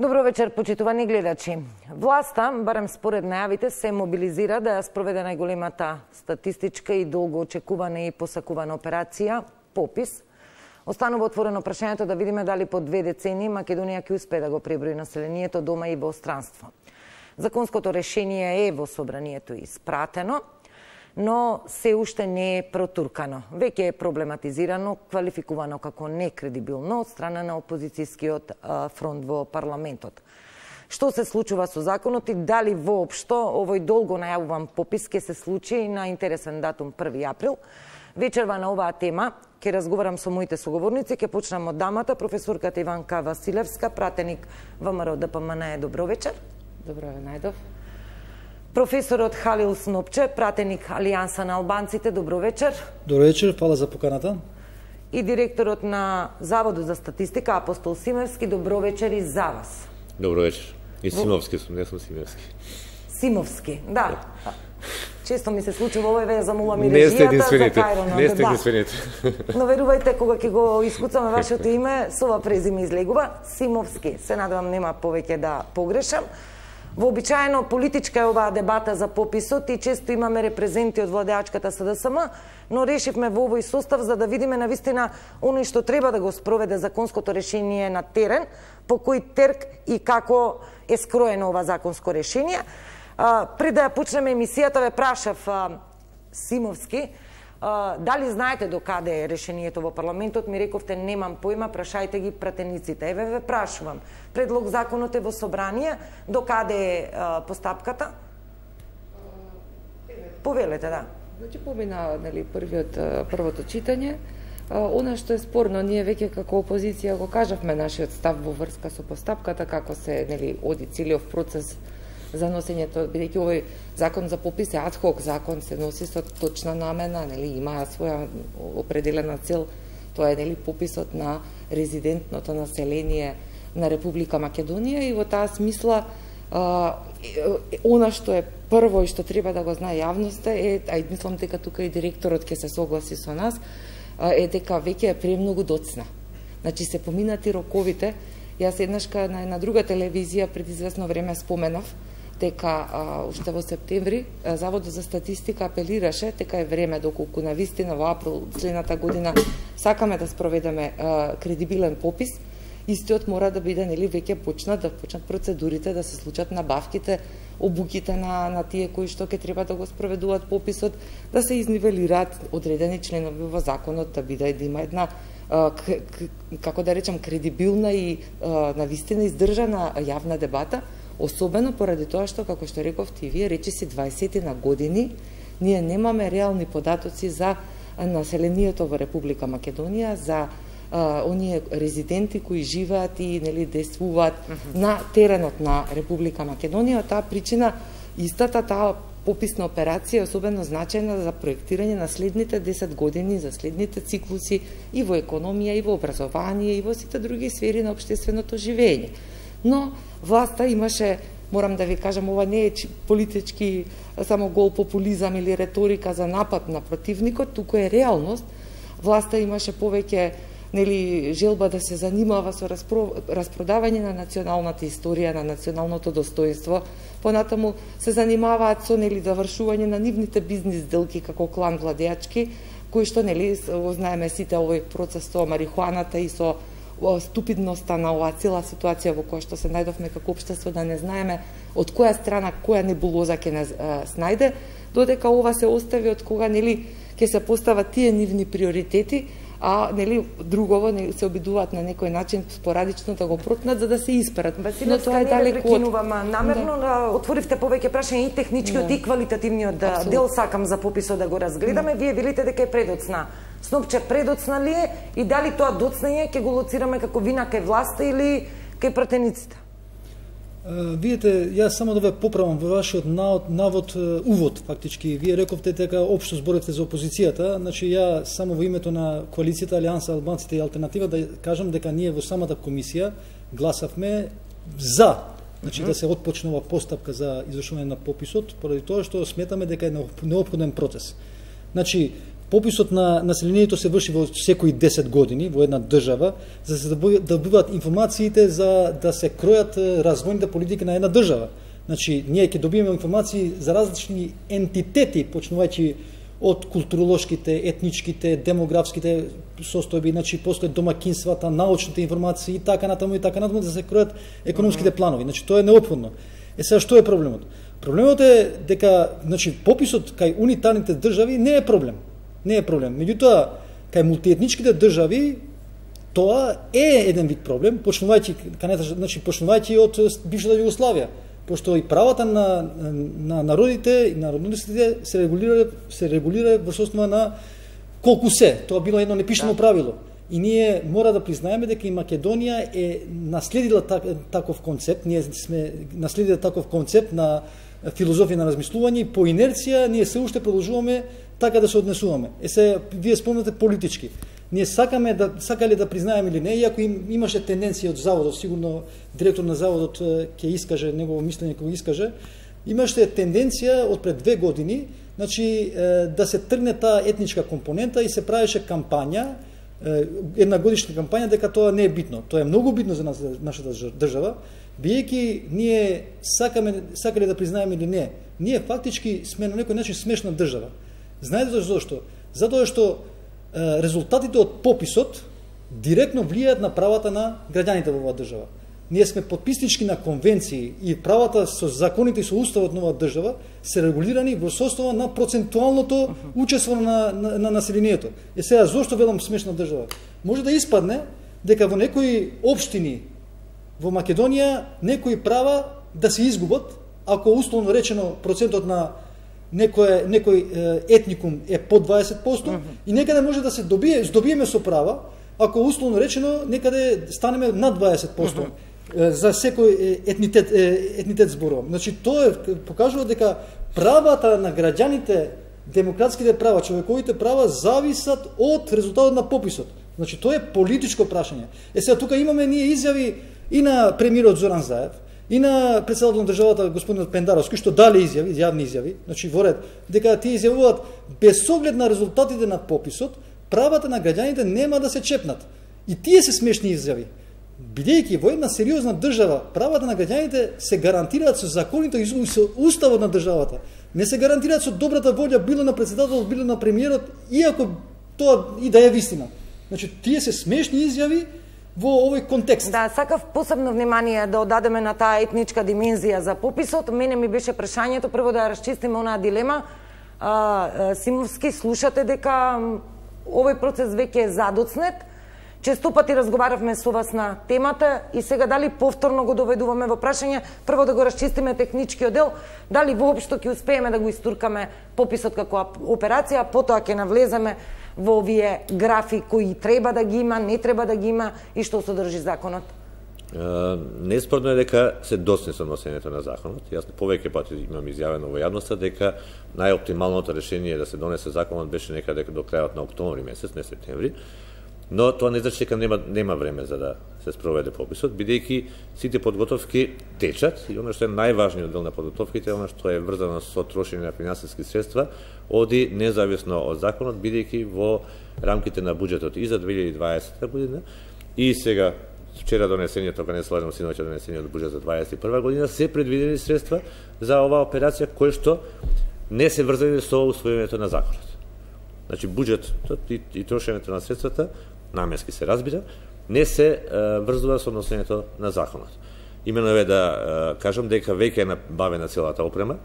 Добро вечер, почитувани гледачи. Власта, барем според најавите, се мобилизира да ја спроведе најголемата статистичка и долго очекувана и посакувана операција попис. Останува отворено прашањето да видиме дали по 2 децении Македонија ќе успее да го преброи населението дома и во странство. Законското решение е во собранието испратено, но се уште не е протуркано. Веќе е проблематизирано, квалификувано како некредибилно од страна на опозицијскиот фронт во парламентот. Што се случува со законот и дали воопшто овој долго најавуван попис ќе се случи на интересен датум 1 април? Вечерва на оваа тема ќе разговарам со моите соговорници, ќе почнам од дамата, професорката Иванка Василевска, пратеник ВМРО ДПМН. Добро вечер. Добро најдов. Професорот Халил Снопче, пратеник Алијанса на албанците. Добро вечер. Добро вечер, фала за поканата. И директорот на Заводот за статистика Апостол Симевски. Добро вечер и за вас. Добро вечер. И Симовски сум, не сум Симевски. Симовски, да. Често ми се случува овој ве замолам и режијата за Кајро. Не сте единствените. Но верувајте, кога ќе го искуцаме вашето име, со ова презиме излегува Симовски. Се надевам нема повеќе да погрешам. Вообичаено политичка е оваа дебата за пописот и често имаме репрезенти од владеачката СДСМ, но решивме во овој состав за да видиме навистина оној што треба да го спроведе законското решение на терен, по кој терк и како е скроено ова законско решение. Пред да ја почнеме емисијата ве прашав Симовски, дали знаете до каде е решението во парламентот? Ми рековте немам појма, прашајте ги пратениците. Еве ве прашувам. Предлог законот е во собрание, до каде е постапката? Повелете, да. Значи помина првото читање. Она што е спорно, ние веќе како опозиција го кажавме нашиот став во врска со постапката, како се оди целиот процес за носењето, бидејќи овој закон за попис е адхок закон, се носи со точна намена, има своја определена цел, тоа е пописот на резидентното население на Република Македонија и во таа смисла она што е прво и што треба да го знае јавноста е, а мислам дека тука и директорот ќе се согласи со нас, е дека веќе е премногу доцна. Значи се поминати роковите. Јас еднашка на една друга телевизија пред известно време споменав дека уште во септември Заводот за статистика апелираше дека е време доколку навистина во април следната година сакаме да спроведеме кредибилен попис, истиот мора да биде веќе почнат процедурите, да се случат набавките, обуките на тие кои што ќе треба да го спроведуваат пописот, да се изнивелираат одредени членови во законот, да има една како да речам кредибилна и навистина издржана јавна дебата. Особено поради тоа што, како што рековте и вие, речиси 20 на години, ние немаме реални податоци за населението во Република Македонија, за оние резиденти кои живеат и действуваат на теренот на Република Македонија. Од таа причина, истата таа пописна операција е особено значајна за проектирање на следните 10 години, за следните циклуси и во економија, и во образование, и во сите други сфери на општественото живење. Но власта имаше, морам да ви кажам, ова не е политички само гол популизам или реторика за напад на противникот, туку е реалност. Власта имаше повеќе желба да се занимава со распродавање на националната историја, на националното достоинство. Понатаму се занимаваат со завршување на нивните бизнис делки како клан владеачки, кои што знаеме сите овој процес со марихуаната и со ступидноста на оваа цела ситуација во која што се најдовме како општество, да не знаеме од која страна која небулоза ќе не снајде, додека ова се остави од кога ќе се постават тие нивни приоритети, а другово се обидуваат на некој начин спорадично да го протнат за да се исперат. Но тоа е далеку од... Намерно отворивте повеќе прашања и техничкиот и квалитативниот дел сакам за пописот да го разгледаме. Вие велите дека е предоцна. Снопче, предоцна ли е и дали тоа доцнање ќе го лоцираме како вина кај власта или кај пратениците? Видите, јас само да ве поправам во вашиот навод, увод, фактички. Вие рековте дека општо зборевте за опозицијата, значи ја само во името на коалицијата Алијанса, албанците и алтернатива да кажам дека ние во самата комисија гласавме за, значи да се отпочнува постапка за извршување на пописот, поради тоа што сметаме дека е неопходен процес. Значи, пописот на населението се врши во секои 10 години во една држава, за да се добиваат информациите за да се кројат развојните политики на една држава. Значи, ние ќе добиеме информации за различни ентитети, почнувајќи од културолошките, етничките, демографските состојби, значи после домакинствата, научните информации и така натаму да се кројат економските планови. Значи тоа е неопходно. Сега што е проблемот? Проблемот е дека значи пописот кај унитарните држави не е проблем. Не е проблем. Меѓутоа кај мултиетничките држави тоа е еден вид проблем, почнувајќи од бившата Југославија. Пошто и правата на народите и народностите се регулира во основа на колку се. Тоа било едно непишано правило. И ние мора да признаеме дека и Македонија е наследила таков концепт, ние сме наследили таков концепт на филозофија на размислување и по инерција ние се уште продолжуваме така да се однесуваме. Се вие спомнате политички. Ние сакале да признаеме или не, иако имаше тенденција од заводот, сигурно директор на заводот ќе искаже негово мислење, кога искаже, имаше тенденција од пред 2 години, значи да се тргне таа етничка компонента и се правеше кампања, една годишна кампања дека тоа не е битно. Тоа е многу битно за нашата држава, биејќи ние сакале да признаеме или не, ние фактички сме на некој начин смешна држава. Знаете зашто? Затоа што резултатите од пописот директно влијаат на правата на граѓаните во оваа држава. Ние сме подписнички на конвенции и правата со законите и со уставот на оваа држава се регулирани во состојба на процентуалното учество на населението. Сега зошто велам смешна држава? Може да испадне дека во некои општини во Македонија некои права да се изгубат ако условно речено процентот на некој етникум е под 20% и некаде може да се здобиеме со права ако условно речено некаде станеме над 20% за секој етнитет зборувам. Значи тоа покажува дека правата на граѓаните, демократските права, човековите права зависат од резултатот на пописот. Значи тоа е политичко прашање. Сега тука имаме ние изјави и на премиерот Зоран Заев, и на председател на државата господинот Пендаровски, што дали изјави, јавни изјави, значи во ред, дека тие изјавуваат без оглед на резултатите на пописот, правата на граѓаните нема да се чепнат. И тие се смешни изјави. Бидејќи во една сериозна држава правата на граѓаните се гарантираат со законите и со уставот на државата. Не се гарантираат со добрата волја било на председателот, било на премиерот, иако тоа и да е вистина. Значи тие се смешни изјави во овој контекст. Да, сакав посебно внимание да одадеме на таа етничка димензија за пописот. Мене ми беше прашањето прво да ја расчистиме онаа дилема. Симовски, слушате дека овој процес веќе е задоцнет. Често пати разговаравме со вас на темата и сега дали повторно го доведуваме во прашање, прво да го расчистиме техничкиот дел, дали воопшто ќе успееме да го истуркаме пописот како операција, потоа ќе навлеземе во овие графи кои треба да ги има, не треба да ги има и што содржи законот? Неспорно е дека се досни со носењето на законот. Јас повеќе пати имам изјавено во јавноста дека најоптималното решение да се донесе законот беше некаде до крајот на октомври месец, не септември. Но тоа не значи дека нема време за да се спроведе пописот, бидејќи сите подготовки течат и она што е најважниот дел на подготовките, она што е врзано со трошење на финансиски средства, оди независно од законот, бидејќи во рамките на буџетот и за 2020 година и сега вчера донесението, кога не слажам синоќа донесението буџет за 2021 година, се предвидени средства за оваа операција кои што не се врзани со усвојувањето на законот. Значи буџетот и трошењето на средствата наменски се разбира, не се врзува со носењето на законот. Имено е да кажам дека веќе е набавена целата опрема,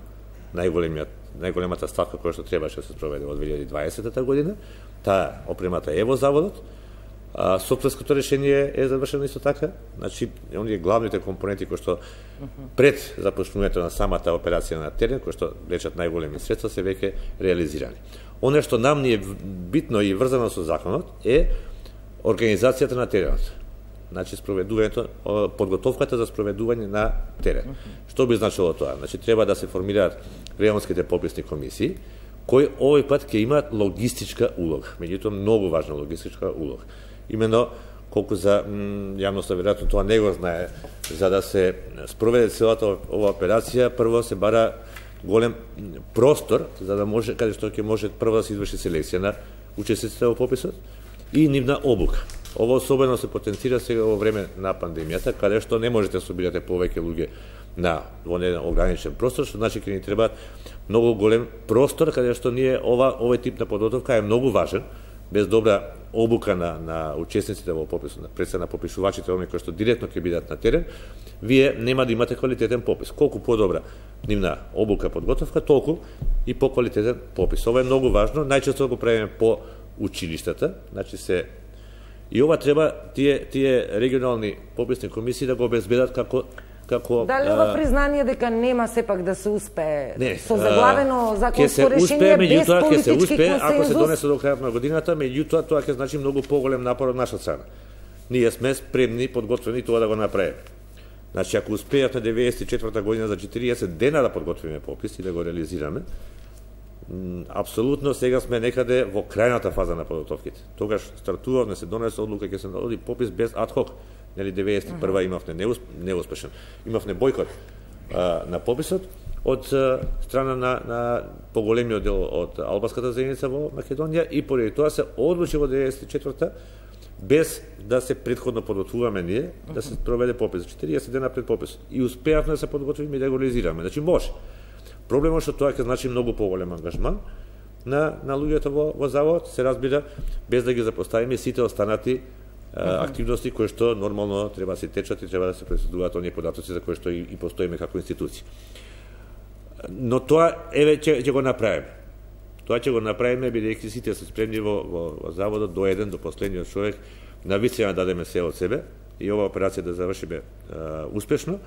најголемата ставка која што требаше да се спроведе во 2020 година, таа опремата е во заводот, софтверското решение е завршено исто така, значи оние главните компоненти кои што пред започнувањето на самата операција на терен, кои што лечат најголеми средства, се веќе реализирани. Оно што нам ни е битно и врзано со законот е организацијата на теренот. Значи спроведувањето, подготовката за спроведување на терен. Што би значило тоа? Значи треба да се формираат регионските пописни комисии, кои овој пат ќе имаат логистичка улога, меѓутоа многу важна логистичка улога. Имено колку за јавноста веројатно тоа не го знае, за да се спроведе целата ова операција, прво се бара голем простор за да може, каде што ќе може прво да се изврши селекција на учесниците во пописот и нивна обука. Ова особено се потенцира сега во време на пандемијата, каде што не можете да собирате повеќе луѓе во еден ограничен простор, што значи ќе ни треба многу голем простор, каде што ние овој тип на подготовка е многу важен. Без добра обука на учесниците во пописот, пред на попишувачите, оние кои што директно ќе бидат на терен, вие нема да имате квалитетен попис. Колку подобра нивна обука, подготовка, толку и поквалитетен попис. Ова е многу важно, најчесто го правиме по училиштата, значи и ова треба тие регионални пописни комисии да го обезбедат како Дали ова признание дека нема сепак да се успее со заглавено законско решение без политички консензус? Ако се донесе до крајот на годината, меѓутоа тоа ќе значи многу поголем напор од наша страна. Ние сме спремни, подготвени тоа да го направиме. Значи, ако успеевме 94-та година за 40 дена да подготвиме попис и да го реализираме, апсолутно сега сме некаде во крајната фаза на подготовките. Тогаш стартувавме, се донесе одлука, ќе се наоди попис без адхок. Нели 91-а имавме неуспешен. Имавме бойкот на пописот од страна на поголемиот дел од албанската заедница во Македонија и поради тоа се одлучи во 94-та без да се претходно подготвуваме ние да се проведе попис 40 дена пред пописот и успеавме да се подготвиме и да го реализираме. Значи може. Проблемот што тоа ќе значи многу поголем ангажман на луѓето во завод, се разбира, без да ги запоставиме сите останати активности кои што нормално треба да се течат и треба да се преследуваат оние податоци за кои што и постоиме како институција. Но тоа ќе го направиме. Тоа ќе го направиме бидејќи сите се спремни во заводот до еден, до последниот човек, навистина да дадеме се од себе и ова операција да завршиме успешно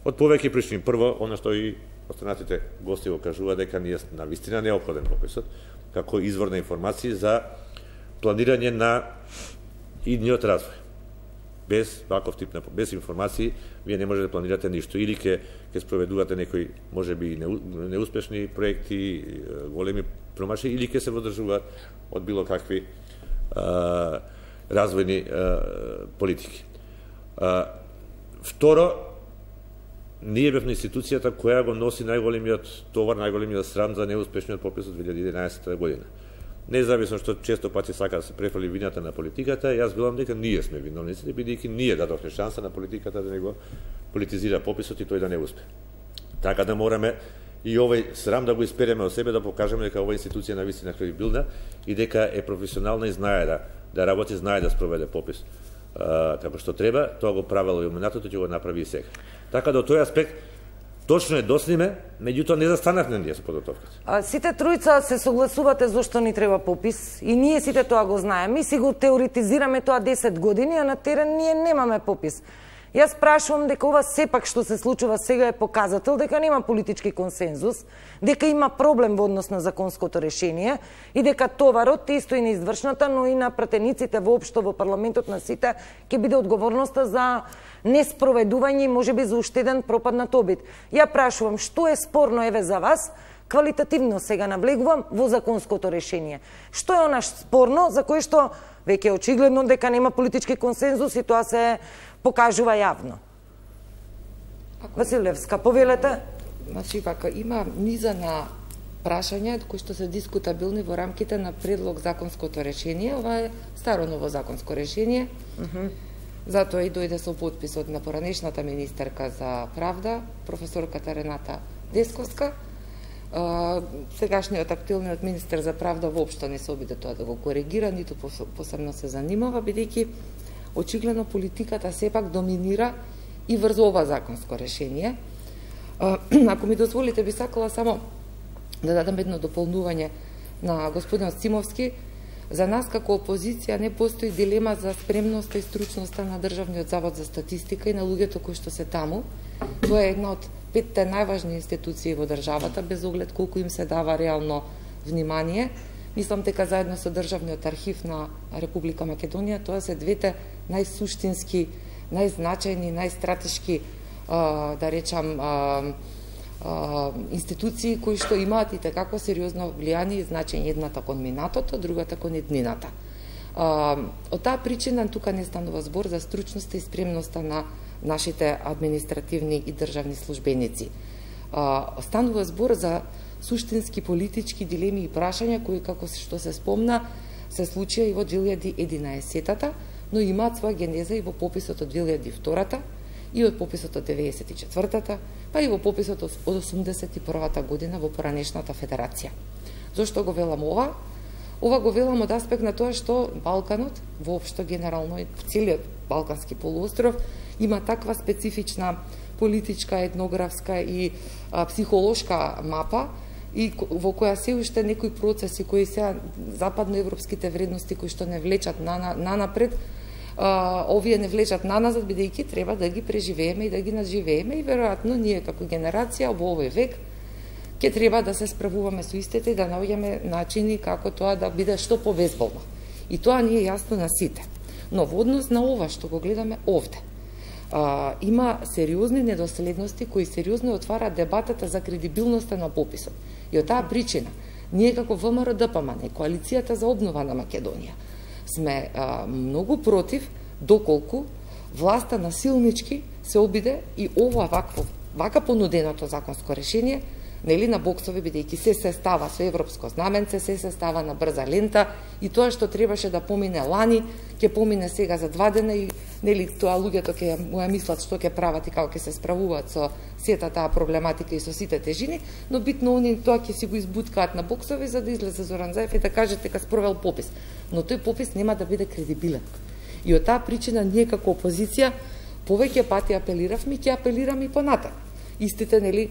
од повеќе причини. Прво, она што и останатите гости го кажува дека ние навистина неопходен пописот како извор на информации за планирање на идниот развој. Без ваков тип без информации вие не можете да планирате ништо или ќе спроведувате некои можеби неуспешни проекти, големи промашаи или ќе се водржуваат од било какви развојни политики. Второ, ние бевме институцијата која го носи најголемиот товар, најголемиот срам за неуспешниот попис од 2011 година. Независно што често пати сака да се префали вината на политиката, јас велам дека ние сме виновниците, бидејќи ние дадовме шанса на политиката да не го политизира пописот и тој да не успе. Така да мораме и овој срам да го испереме од себе, да покажеме дека оваа институција навистина кредибилна и дека е професионална и знае да работи, знае да спроведе попис како што треба. Тоа го правело и во минатото, ќе го направи и сега. Така да од тој аспект точно е досниме, меѓутоа не застанавме ние со подготовката. Сите тројца се согласувате зошто ни треба попис и ние сите тоа го знаеме. Ми си го теоретизираме тоа 10 години, а на терен ние немаме попис. Јас прашувам дека ова сепак што се случува сега е показател дека нема политички консензус, дека има проблем во однос на законското решение и дека товарот исто и на извршната, но и на пратениците воопшто во парламентот на сите ќе биде одговорноста за неспроведување и можеби за уште еден пропаднат обид. Ја прашувам што е спорно еве за вас, квалитативно сега навлегувам во законското решение. Што е она спорно за кое што веќе очигледно дека нема политички консензус и тоа се покажува јавно? Василевска, повелете. Значи, има низа на прашања кои што се дискутабилни во рамките на предлог законското решение. Ова е старо ново законско решение. Затоа и дојде со потписот на поранешната министерка за правда, професорката Рената Десковска. Сегашниот актуелниот министер за правда воопшто не се обиде тоа да го коригира, ниту посебно се занимава, бидејќи очигледно политиката сепак доминира и врз ова законско решение. Ако ми дозволите, би сакала само да дадам едно дополнување на господин Симовски. За нас како опозиција не постои дилема за спремноста и стручноста на Државниот завод за статистика и на луѓето кои што се таму. Тоа е една од 5 најважни институции во државата, без оглед колку им се дава реално внимание. Мислам дека заедно со Државниот архив на Република Македонија, тоа се двете најсуштински, најзначајни, најстратешки, да речам, институции кои што имаат и такако сериозно влијание и значење, едната кон минатото, другата кон иднината. Од таа причина тука не станува збор за стручноста и спремноста на нашите административни и државни службеници. Станува збор за суштински политички дилеми и прашања кои, како што се спомна, се случија и во 2011-та, но имаат своја генеза и во пописот од 2002-та, и од пописот од 94-та, па и во пописот од 81-та година во поранешната федерација. Зошто го велам ова? Ова го велам од аспект на тоа што Балканот, воопшто генерално и целиот Балкански полуостров, има таква специфична политичка, етнографска и психолошка мапа, и во која се уште некои процеси кои се западноевропските вредности кои што не влечат нанапред, овие не влечат наназад, бидејќи треба да ги преживееме и да ги надживееме, и веројатно ние како генерација во овој век ќе треба да се справуваме со истите и да наоѓаме начини како тоа да биде што побезболно. И тоа ни е јасно на сите. Но во однос на ова што го гледаме овде, има сериозни недоследности кои сериозно отвараат дебатата за кредибилноста на пописот. И од таа причина, ние како ВМРО-ДПМН, Коалицијата за обнова на Македонија, сме многу против доколку власта насилнички се обиде и ова вака понуденото законско решение, нели, на боксови, бидејќи се става со европско знаменце, се става на брза лента, и тоа што требаше да помине лани, ќе помине сега за 2 дена, и нели тоа луѓето ќе му ја мислат што ќе прават и како ќе се справуваат со сета таа проблематика и со сите тежини, но битно они тоа ќе си го избуткаат на боксови за да излезе Зоран Заев и да каже дека спровел попис. Но тој попис нема да биде кредибилен. И од таа причина ние како опозиција повеќе пати апелиравме и ќе апелираме и понатаму. Истите, нели,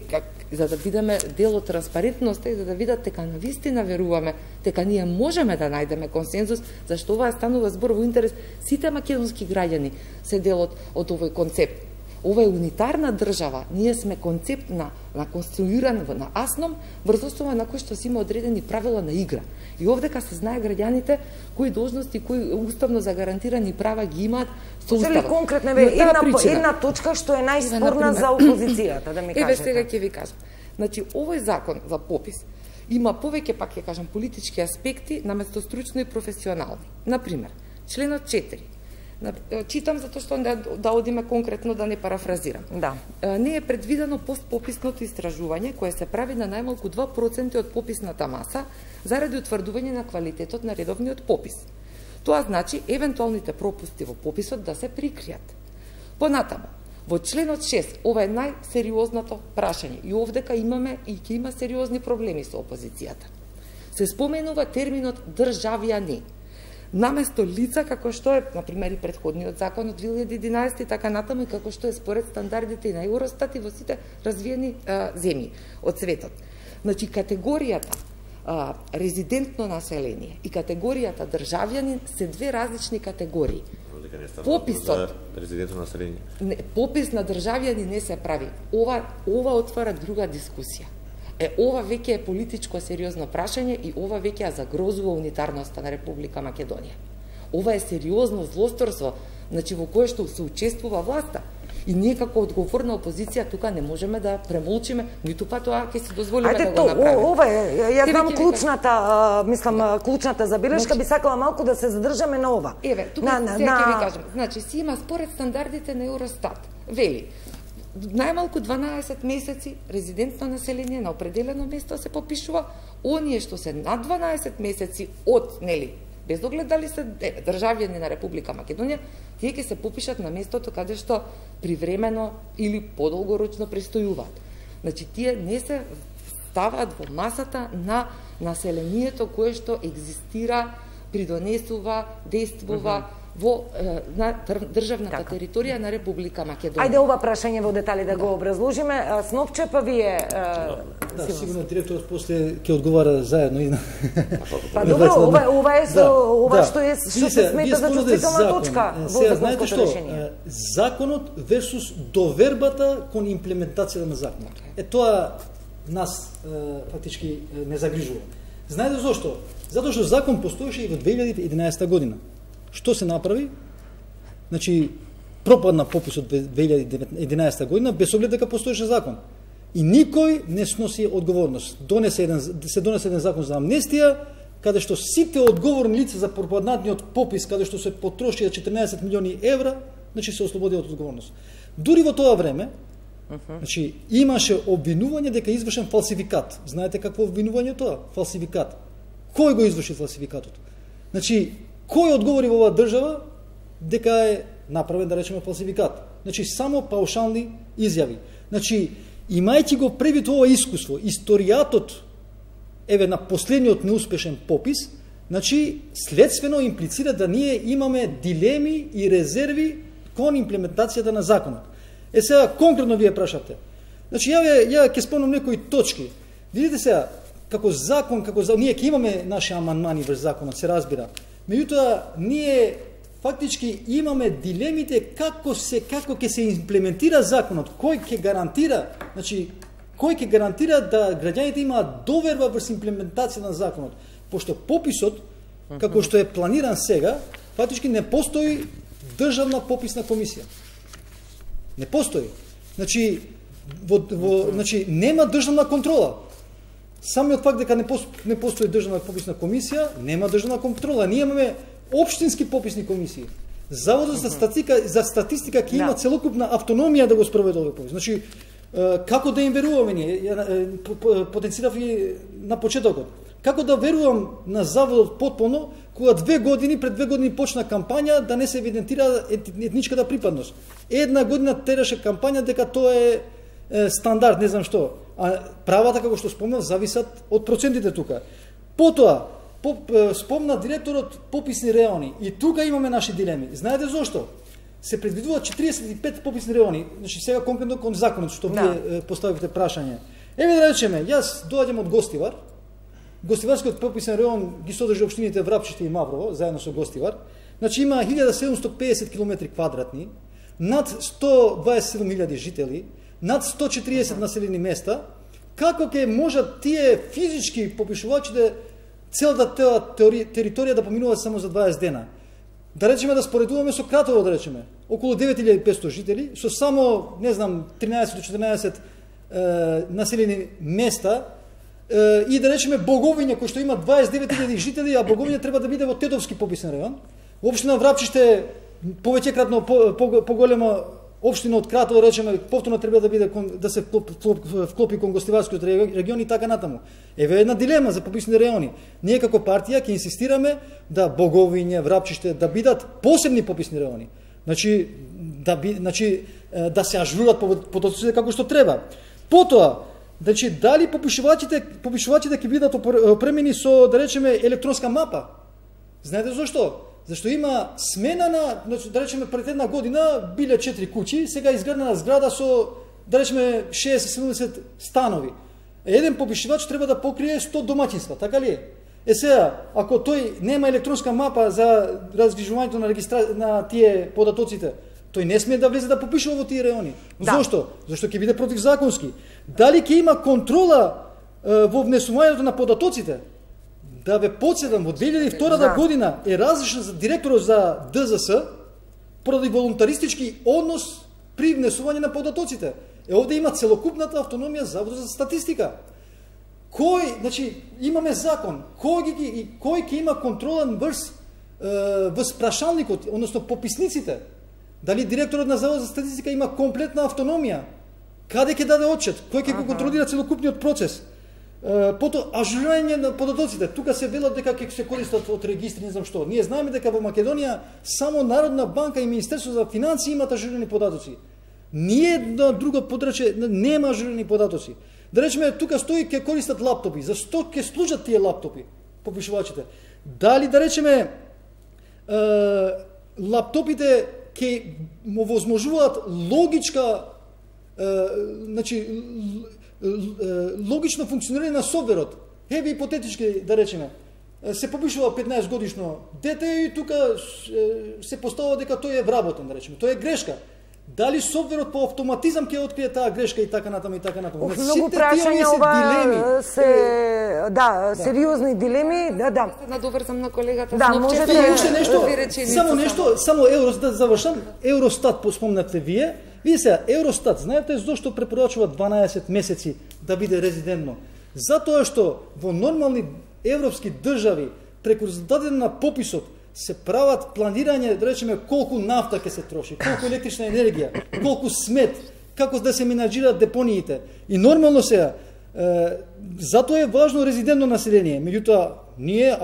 за да бидеме дел од транспарентноста и за да видат дека навистина веруваме, дека ние можеме да најдеме консензус, зашто ова станува збор во интерес сите македонски граѓани се дел од овој концепт. Ова е унитарна држава, ние сме концепт на конструиран на асном, врз основа на кој што си има одредени правила на игра. И овдека се знае граѓаните кои должности, кои уставно загарантирани права ги имаат со уставот. Конкретно една точка што е најспорна за опозицијата, да ми кажете. Еве сега ќе ви кажам. Значи, овој закон за попис има повеќе, пак ќе кажам, политички аспекти наместо стручно и професионални. Например, членот 4. Читам затоа што да одиме конкретно, да не парафразирам. Да. Не е предвидено постпописното истражување кое се прави на најмалку 2% од пописната маса заради утврдување на квалитетот на редовниот попис. Тоа значи евентуалните пропусти во пописот да се прикријат. Понатаму, во членот 6, ова е најсериозното прашање и овдека имаме и ќе има сериозни проблеми со опозицијата. Се споменува терминот државјани. Наместо лица, како што е, например, и претходниот закон од 2011 и така натаму, и како што е според стандардите и на Евростат и во сите развиени земји од светот. Значи, категоријата резидентно население и категоријата државјанин се две различни категории. Пописот резидентно население. Попис на државјани не се прави. Ова отвара друга дискусија. Ова веќе е политичко сериозно прашање и ова веќе ја загрозува унитарноста на Република Македонија. Ова е сериозно злосторство, значи во кое што се учествува власта. И ние како одговорна опозиција тука не можеме да премолчиме, ниту па тоа ќе се дозволиме да го направиме. Ова е, ја знам клучната, клучната забелешка, би сакала малку да се задржаме на ова. Еве, тука сега ќе ви кажам. Значи, си има според стандардите на Евростат. Вели, најмалку 12 месеци резидентно население на определено место се попишува, оние што се над 12 месеци од, нели, без оглед дали се државјани на Република Македонија, тие ќе се попишат на местото каде што привремено или подолгорочно престојуваат. Значи, тие не се ставаат во масата на населението кое што екзистира, придонесува, действува во државната територија на Република Македонија. Ајде ова прашање во детали да го образложиме. Снопче, па вие... Да, сигурно директорот после ќе одговара заедно и на... Па добро, ова е што се смета за чувствителна точка во законското решение. Законот версус довербата кон имплементацијата на законот. Тоа нас фактички не загрижува. Знаете зошто? Затоа што закон постоеше и во 2011 година. Што се направи? Значи, пропадна пописот 2011 година без оглед дека постоеше закон. И никој не сноси одговорност. Се донесе еден закон за амнестија, каде што сите одговорни лица за пропаднатниот попис, каде што се потрошија 14 милиони евра, значи се ослободија од одговорност. Дури во тоа време, значи, имаше обвинување дека извршен фалсификат. Знаете какво обвинување тоа? Фалсификат. Кој го изврши фалсификатот? Значи, кој одговори во оваа држава дека е направен, да речеме, фалсификат? Значи, само паушални изјави. Значи, имајќи го превид ова искуство, историјатот, еве, на последниот неуспешен попис, значи, следствено имплицира да ние имаме дилеми и резерви кон имплементацијата на законот. Сега, конкретно вие прашате. Значи, ја ќе спомнам некои точки. Видите сега, како закон, ние ќе имаме наши амандмани врз законот, се разбира. Меѓутоа, ние фактички имаме дилемите како ќе се имплементира законот, кој ќе гарантира, значи, кој ќе гарантира да граѓаните имаат доверба врз имплементација на законот, пошто пописот, како што е планиран сега, фактички не постои државна пописна комисија. Не постои. Значи, значи нема државна контрола. Самиот факт дека не постои државна пописна комисија, нема државна контрола. Ние имаме општински пописни комисии. Заводот за статистика ќе има целокупна автономија да го спроведе овој попис. Значи, како да им веруваме ние? Потенцирав и на почетокот. Како да верувам на заводот потполно, кога пред 2 години почна кампања да не се евидентира етничката припадност. Една година тераше кампања дека тоа е стандард, не знам што. А правата, како што спомнав, зависат од процентите тука. Потоа, спомна директорот пописни райони. И тука имаме наши дилеми. Знаете зошто? Се предвидуваат 45 пописни райони. Значи, сега конкретно кон законот, што вие поставивте прашање. Еве да речеме, јас доаѓам од Гостивар. Гостиварскиот пописен район ги содржи општините Врапчище и Маврово, заедно со Гостивар. Значи, има 1750 км квадратни, над 127.000 жители, над 140 населени места. Како ќе можат тие физички попишувачите целата таа територија да поминуваат само за 20 дена? Да речеме да споредуваме со Кратово, да речеме, околу 9500 жители, со само, не знам, 13 до 14 населени места, и да речеме Боговиња, кој што има 29.000 жители, а Боговиња треба да биде во Тетовски пописен район. Општина Врапчиште повеќекратно поголема општина од Кратово, речеме, повторно треба да биде да се вклопи кон Гостиварскиот регион и така натаму. Еве една дилема за пописни райони. Ние како партија ќе инсистираме да Боговиње, Врапчиште да бидат посебни пописни райони. Значи да се ажурат податоците како што треба. Потоа, значи дали попишувачите ќе бидат опремени со, да речеме, електронска мапа? Знаете зошто? Зашто има смена на, да речеме, пред една година биле 4 куќи, сега изградена зграда со, да речеме, 60-70 станови. Еден попишувач треба да покрие 100 домаќинства, така ли е? Сега, ако тој нема електронска мапа за раздвижувањето на тие податоците, тој не смее да влезе да попишува во тие райони. Да. Зошто? Зашто ќе биде противзаконски. Дали ќе има контрола во внесувањето на податоците? Да ве подсетам, во 2002 година е разрешен за директорот за ДЗС поради волунтаристички однос при внесување на податоците. Овде има целокупната автономија Заводот за статистика. Значи, имаме закон, кој ќе има контрола врз прашалникот, односно пописниците? Дали директорот на Заводот за статистика има комплетна автономија? Каде ќе даде отчет? Кој ќе го контролира целокупниот процес? Потоа, ажурирање на податоците. Тука се велат дека ќе се користат од регистри, не знам што. Ние знаеме дека во Македонија само Народна банка и Министерство за финансии имат ажурирани податоци. Ниедно друго подрачје нема ажурирани податоци. Да речеме, тука стои ќе користат лаптопи. За што ќе служат тие лаптопи, попишувачите? Дали, да речеме, лаптопите ќе му возможуваат логично функционирање на софтверот. Еве ипотетички, да речеме, се попишува 15 годишно дете и тука се поставува дека тој е вработен, да речеме. Тоа е грешка. Дали софтверот по автоматизам ќе открие таа грешка и така натаму и така натаму. Многу прашања ова се сериозни дилеми, да. Надоврзам на колегата. Да, можете уште нешто, само Евростат завршам. Евростат спомнавте вие. Вие сега, Евростат, знаете зошто препорачува 12 месеци да биде резидентно? Затоа што во нормални европски држави преку резултатите на пописот се прават планирање, да речеме, колку нафта ќе се троши, колку електрична енергија, колку смет, како да се менаџираат депониите. И нормално сега, затоа е важно резидентно население. Меѓутоа, ние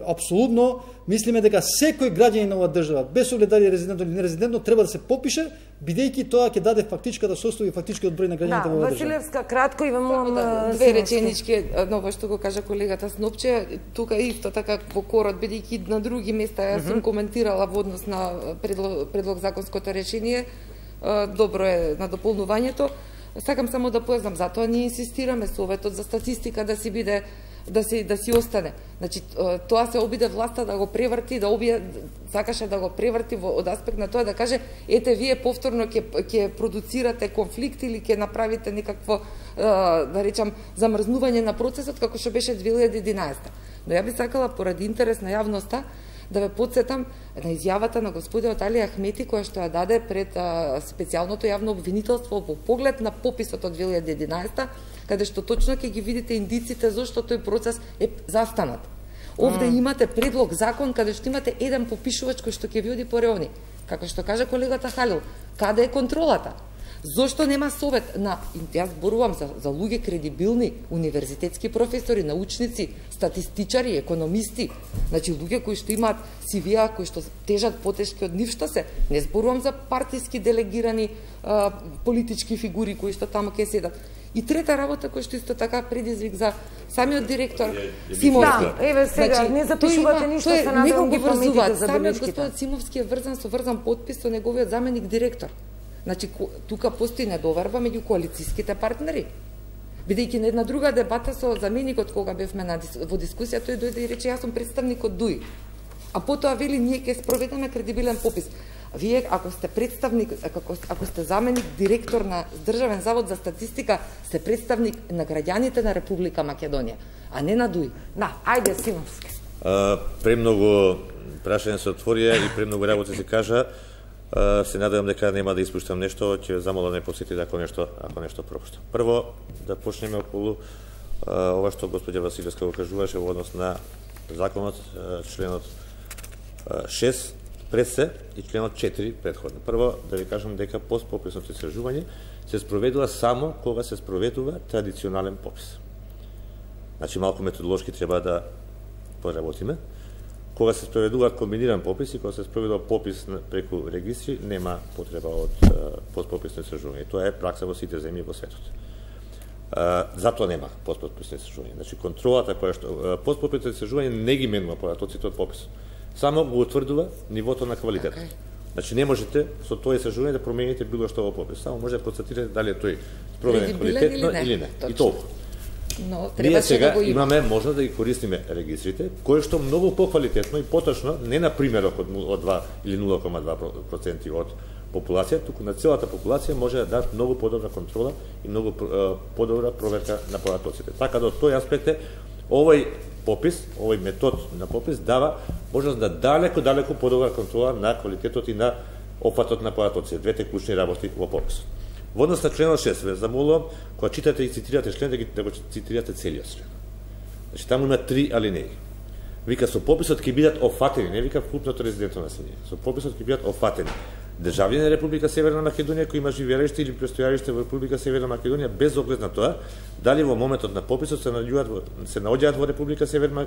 апсолутно мислиме дека секој граѓанин на оваа држава, без оглед дали резидентно или нерезидентно, треба да се попише, бидејќи тоа ќе даде фактичката состојба и фактичкиот број на граѓаните во оваа држава. Василевска, кратко и вам две реченички, ново што го кажа колегата Снопче, тука исто така во корот, бидејќи на други места јас сум коментирала во однос на предлог законското решение, добро е на дополнувањето. Сакам само да познам, затоа ние инсистираме Советот за статистика да си биде да си остане. Значи тоа се обиде власта да го преврти, сакаше да го преврти од аспект на тоа да каже ете вие повторно ќе продуцирате конфликт или ќе направите некакво да речам замрзнување на процесот како што беше 2011. Но ја би сакала поради интерес на јавноста да ве потсетам на изјавата на господинот Али Ахмети која што ја даде пред специјалното јавно обвинителство во поглед на пописот од 2011, каде што точно ќе ги видите индиците зашто тој процес е застанат. Овде имате предлог закон каде што имате еден попишувач кој што ќе ви оди по реони. Како што кажа колегата Халил, каде е контролата? Зошто нема совет на, јас зборувам за луѓе кредибилни, универзитетски професори, научници, статистичари, економисти, значи луѓе кои што имаат CV-а, кои што тежат потешки од нив што се, не зборувам за партиски делегирани политички фигури кои што таму ќе седат. И трета работа која што исто така предизвик за самиот директор Симовски. Да, еве сега не запишувате ништо, се надевам ги паметите за самиот господин Симовски е врзан подпис со неговиот заменик директор. Значи, тука постои недоверба меѓу коалицијските партнери. Бидејќи на една друга дебата со заменикот, кога бевме во дискусија, тој дојде и рече, јас сум представник од ДУИ. А потоа вели, ние ќе спроведеме кредибилен попис. Вие, ако сте представник, ако сте заменик директор на Државен завод за статистика, сте представник на граѓаните на Република Македонија, а не на ДУИ. Да, ајде, Симовски. Премногу прашање се отворија и премногу работи се кажа. Се надевам дека нема да испуштам нешто, ќе замолам да не посетите ако нешто пропуштам. Прво, да почнеме околу ова што господја Василевска го кажуваше во однос на законот, членот 6 пред се и членот 4 предходно. Прво, да ви кажам дека постпописно истражување се спроведува само кога се спроведува традиционален попис. Значи, малку методолошки треба да поработиме. Кога се спроведуваат комбиниран попис и кога се спроведува попис преку регистри, нема потреба од постпописно истражување. Тоа е пракса во сите земји во светот. Затоа нема постпописно истражување. Значи, контролата која што постпописно истражување не ги менува податоците од пописот. Само го утврдува нивото на квалитет. Значи, не можете со тоа истражување да промените било што во попис. Само може да констатирате дали е тој спроведен квалитетно или не. И толку. Но ние сега да имаме можност да ги користиме регистрите, кои што многу поквалитетно и поточно, не на примерок од 2 или 0,2% од популација, туку на целата популација може да дадат многу подобра контрола и многу подобра проверка на податоците. Така да од тој аспект овој попис, овој метод на попис дава можност да далеку подобра контрола на квалитетот и на опфатот на податоците, двете клучни работи во пописот. Во однос на членот 6, ве замолувам, кога читате и цитирате член, да го цитирате целиот член. Значи, таму има 3 алинеи. Вика, со пописот ќе бидат офатени, не вика вкупното резидентно население, со пописот ќе бидат офатени државјани на Република Северна Македонија кои има живеалиште или престојалиште во Република Северна Македонија без оглед на тоа дали во моментот на пописот се наоѓаат во Република Северна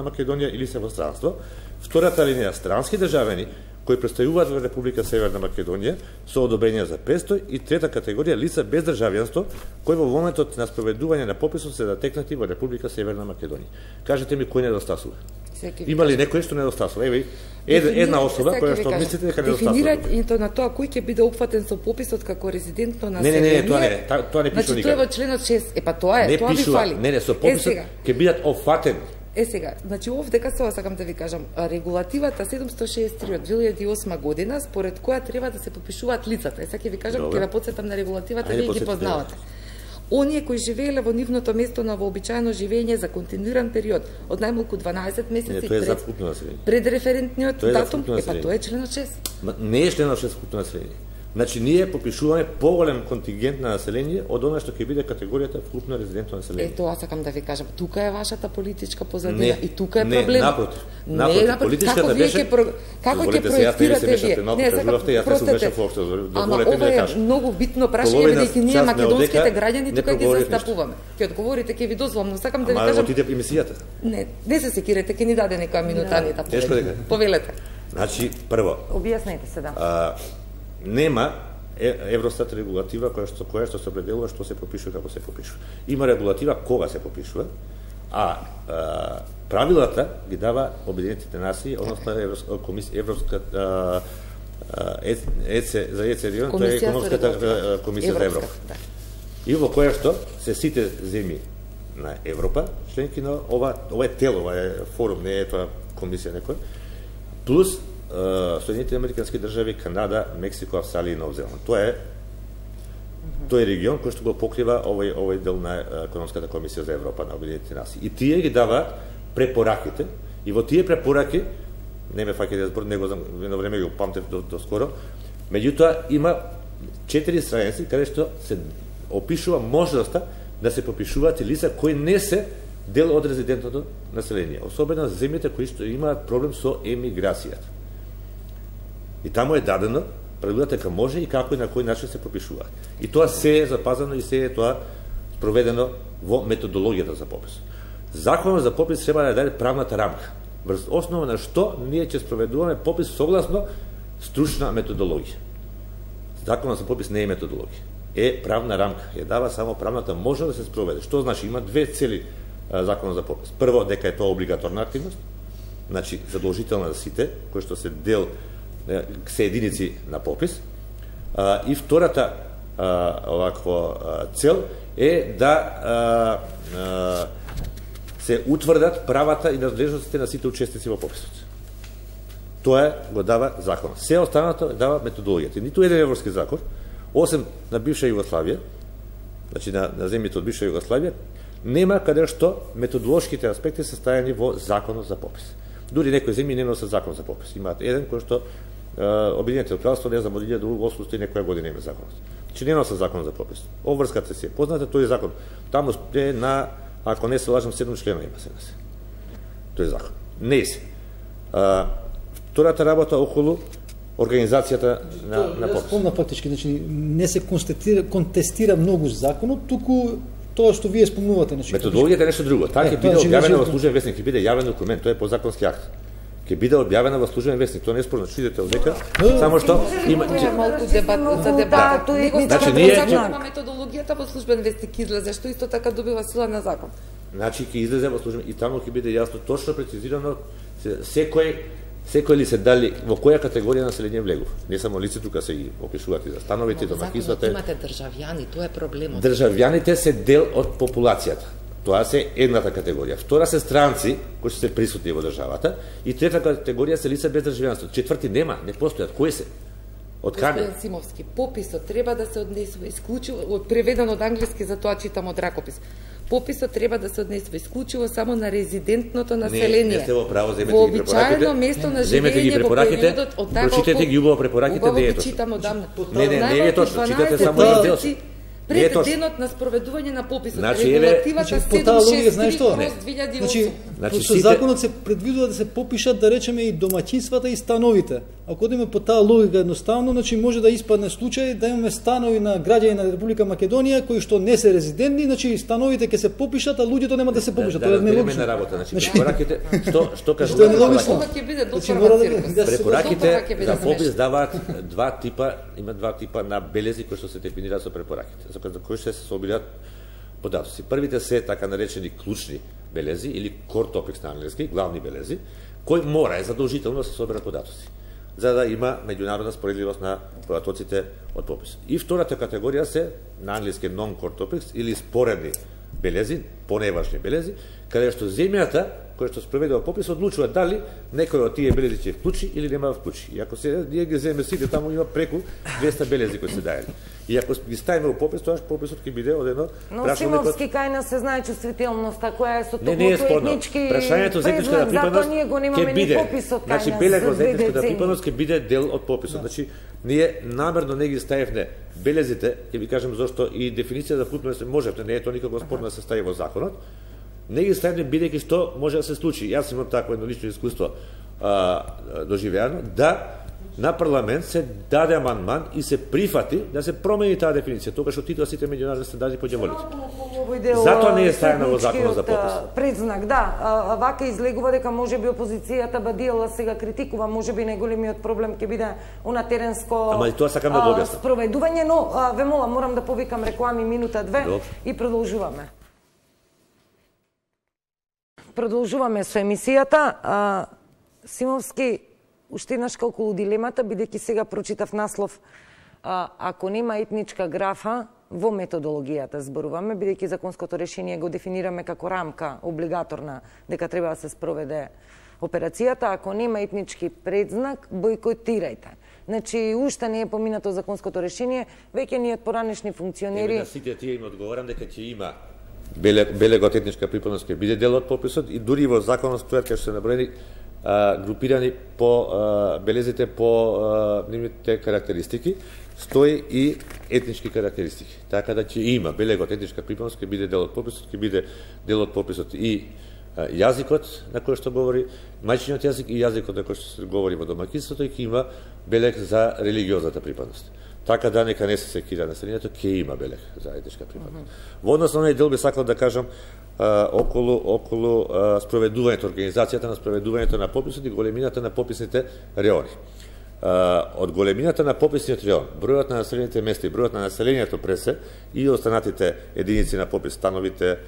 Македонија или се во странство. Втората алинеја, странски државјани кои престојуваат во Република Северна Македонија со одобрение за престој, и трета категорија лица без државјанство кои во моментот на спроведување на пописот се затекнати во Република Северна Македонија. Кажете ми кој недостасува? Има ли некој што недостасува? Еве една особа која што мислите дека недостасува. Дефинирањето на тоа кој ќе биде опфатен со пописот како резидентно население. Не, тоа не пише никаде. Значи тоа е во членот 6. Тоа ви фали. Не, со пописот ќе бидат опфатени. Сега, значи овде кај сакам да ви кажам, регулативата 763 од 2008 година според која треба да се попишуваат лицата. Сега ќе ви кажам, ќе ве потсетам на регулативата, вие ги познавате. Оние кои живееле во нивното место на вообичаено живење за континуиран период од најмалку 12 месеци пред референтниот датум, тоа е членот 6. Не е членот 6 вкупно население. Значи, ние попишуваме поголем контингент на население од она што ќе биде категоријата вкупно резидентно население. Тоа сакам да ви кажам. Тука е вашата политичка позадина и тука е проблем. Не, напротив. Политичката беше... Како ќе проектирате вие? Не, простете. Ама ова е многу битно прашање, бидејќи ние македонските граѓани тука ги застапуваме. Ќе одговорите, ќе ви дозволам, но сакам да ви кажам... Ама отиде емисијата. Не се секирете, ќе ни даде некоја минута, не да повелете. Значи, прво... Објаснете се, да. Нема Евростат регулатива која што се определува што се попишува, како се попишува. Има регулатива кога се попишува, а правилата ги дава Обединетите нации, односно Европска за ЕЦР, тоа е Економската комисија за Европа. И во која што се сите земји на Европа, членки на ова е тело, ова е форум, не е тоа комисија некоја, плюс Соединетите американски држави, Канада, Мексико, Австралија и Нов Зеланд. Тој е регион кој што го покрива овој дел на Економската комисија за Европа на Обединетите нации. И тие ги дава препораките, и во тие препораки, не ме фаќате да зборам, него едно време го памтев до скоро, меѓутоа има 4 страници каде што се опишува можноста да се попишуваат лица кои не се дел од резидентното население, особено земјите кои што имаат проблем со емиграцијата. И таму е дадено правилата дека може и како и на кој начин се попишуваат. И тоа се е запазено и се е тоа спроведено во методологијата за попис. Законот за попис треба да даде правната рамка, врз основа на што ние ќе спроведуваме попис согласно стручна методологија. Законот за попис не е методологија, е правна рамка, ја дава само правната можност да се спроведе. Што значи? Има две цели законот за попис. Прво, дека е тоа облигаторна активност, значи задолжителна за сите, кои што се дел се единици на попис, и втората цел е да се утврдат правата и надлежностите на сите учесници во пописот. Тоа го дава законот. Се останато дава методологијата. Ниту еден европски закон, осем на бивша Југославија, значи на земјите од бивша Југославија, нема каде што методолошките аспекти се стајани во законот за попис. Дури некои земји не носат закон за попис. Имаат еден кој што Обединетото кралство, не знам, од 1800 и некоја година има законот. Че не носа закон за попис. Обврската се позната, тој закон. Таму е на, ако не се лажам, 7 члена има се. Тој закон. Не се. Втората работа околу организацијата на попис. Спомна фактички, значи не се контестира многу законот, туку тоа што вие спомнувате. Методологијата е нешто друго. Таа ќе биде објавена во службен весник, ќе биде јавен документ, тоа е подзаконски акт. Ќе биде објавена во службен весник, тоа не е спорно, читате од дека, само што има малку дебат за дебат. Значи ние методологијата во службен весник излезе, што исто така добива сила на закон. Значи ќе излезе во службен и таму ќе биде јасно точно прецизирано секој ли се дали во која категорија население влегува. Не само лице, тука се и опишуваат и за становите, домакинствата. Имате државјани, тоа е проблемот. Државјаните се дел од популацијата. Тоа се едната категорија. Втора се странци кои се присутни во државата и трета категорија се лица без државјанство. Четврти нема, не постојат. Кои се? Од каде? Господин Симовски, пописот треба да се однесува исклучиво, преведено од англиски, за тоа читам од ракопис. Пописот треба да се однесува исклучиво само на резидентното население. Не сте во право, земете во ги препораките. Обичаено место на живење во периодот од таа прочитете ги убаво препораките, не е точно. Читам одамна. Не е точно, читате само дел. Пред денот на спроведување на пописот, значи, регулативата 763/2008. Значи, со законот се предвидува да се попишат, да речеме, и домаќинствата и становите. Ако одиме по таа логика едноставно, значи може да испадне случај да имаме станови на граѓани на Република Македонија кои што не се резидентни, значи становите ќе се попишат, а луѓето нема да се попишат. Тоа е нелогично. Значи, препораките, што кажува? Ова ќе биде доцорна циркус. Препораките за попис даваат има два типа на белези кои што се дефинираат со препораките, за кои се собираат податоци. Првите се така наречени клучни белези или core topics на англиски, главни белези, кои мора задолжително да се соберат податоци, за да има меѓународна споредливост на податоците од попис. И втората категорија се на англиски non-core topics или споредни белези, поневажни белези, каде што земјата која што спроведува попис одлучува дали некој од тие белези ќе вклучи или нема да вклучи. И ако се ние ги земеме сите, таму има преку 200 белези кои се даели. И ако ги ставиме во попис, тоа пописот ќе биде од едно прашање. Но Симовски кај нас се знае чувствителноста која е со топлото етнички. Прашањето за етничката припадност ќе биде. Значи белегот за етничката припадност ќе биде дел од пописот. Значи ние намерно не ги ставивме белезите, ќе ви кажам зошто и дефиниција за вклучување се можете, не е тоа никако спорно да се стави во законот. Не ги ставивме бидејќи што може да се случи. Јас имам такво едно лично искуство доживеано да на парламент се даде амандман и се прифати да се промени таа дефиниција, тогаш отидоа сите меѓународни стандарди по ѓаволите. Затоа не е ставено во законот за попис. Предзнак, да, вака излегува дека можеби опозицијата бадиела сега критикува, можеби најголемиот проблем ќе биде она теренско спроведување, но ве молам, морам да повикам реклами минута 2 и продолжуваме. Продолжуваме со емисијата. Симовски, уште еднаш околу дилемата, бидејќи сега прочитав наслов, ако нема етничка графа, во методологијата зборуваме, бидејќи законското решение го дефинираме како рамка облигаторна дека треба да се спроведе операцијата, ако нема етнички предзнак, бојкотирајте. Значи, уште не е поминато законското решение, веќе ние од поранешни функционери... На сите тие им одговорам дека ќе има белегот етничка припадност ќе биде дел од пописот и дури во законот стојат кај што се наброени групирани по белезите по нивните карактеристики, стои и етнички карактеристики. Така да ќе има белегот етничка припадност ќе биде дел од пописот, ќе биде дел од пописот и јазикот на кој што говори мајчиниот јазик и јазикот на кој што се говори во домаќинството и ќе има белег за религиозната припадност. Така да нека не се секира населението, ќе има белег за етничка припадност. Во однос на оној дел би сакал да кажам околу спроведувањето, организацијата на спроведувањето на пописот и големината на пописните реони. Од големината на пописниот реон, бројот на населените места и бројот на населението пресе и останатите единици на попис, становите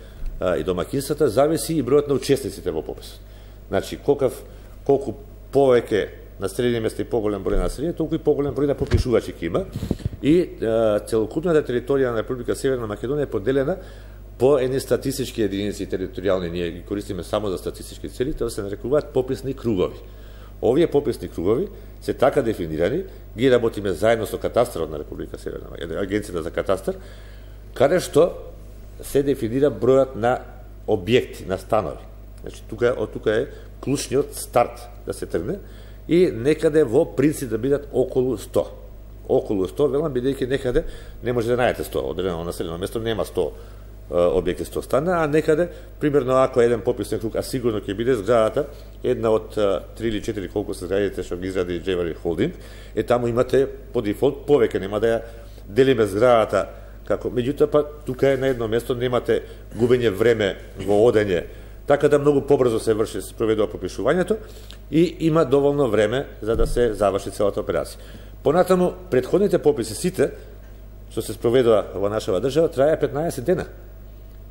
и домаќинствата, зависи и бројот на учесниците во пописот. Значи, колку повеќе населени места и поголем број на население, толку и поголем број на попишувачи ќе има и целокупната територија на Република Северна Македонија е поделена по едни статистички единици територијални, ние ги користиме само за статистички цели, тоа се нарекуваат пописни кругови. Овие пописни кругови се така дефинирани, ги работиме заедно со катастарот на Република Северна Македонија, Агенцијата за катастар, каде што се дефинира бројот на објекти, на станови. Значи, од тука е клучниот старт да се тргне и некаде во принцип да бидат околу 100. Околу 100, велам, бидејќи некаде не може да најдете 100, одредено населено место нема 100 објекти 100 стана, а некаде, примерно, ако еден пописен круг, а сигурно ќе биде зградата, една од 3 или 4 колку се зградите што ги изради Джевари Холдинг, таму имате по дефолт повеќе, нема да ја делиме зградата како, меѓутоа па тука е на едно место, немате губење време во одење, така да многу побрзо се врши, се проведува попишувањето и има доволно време за да се заврши целата операција. Понатаму, претходните пописи сите, што се спроведува во нашава држава, трае 15 дена.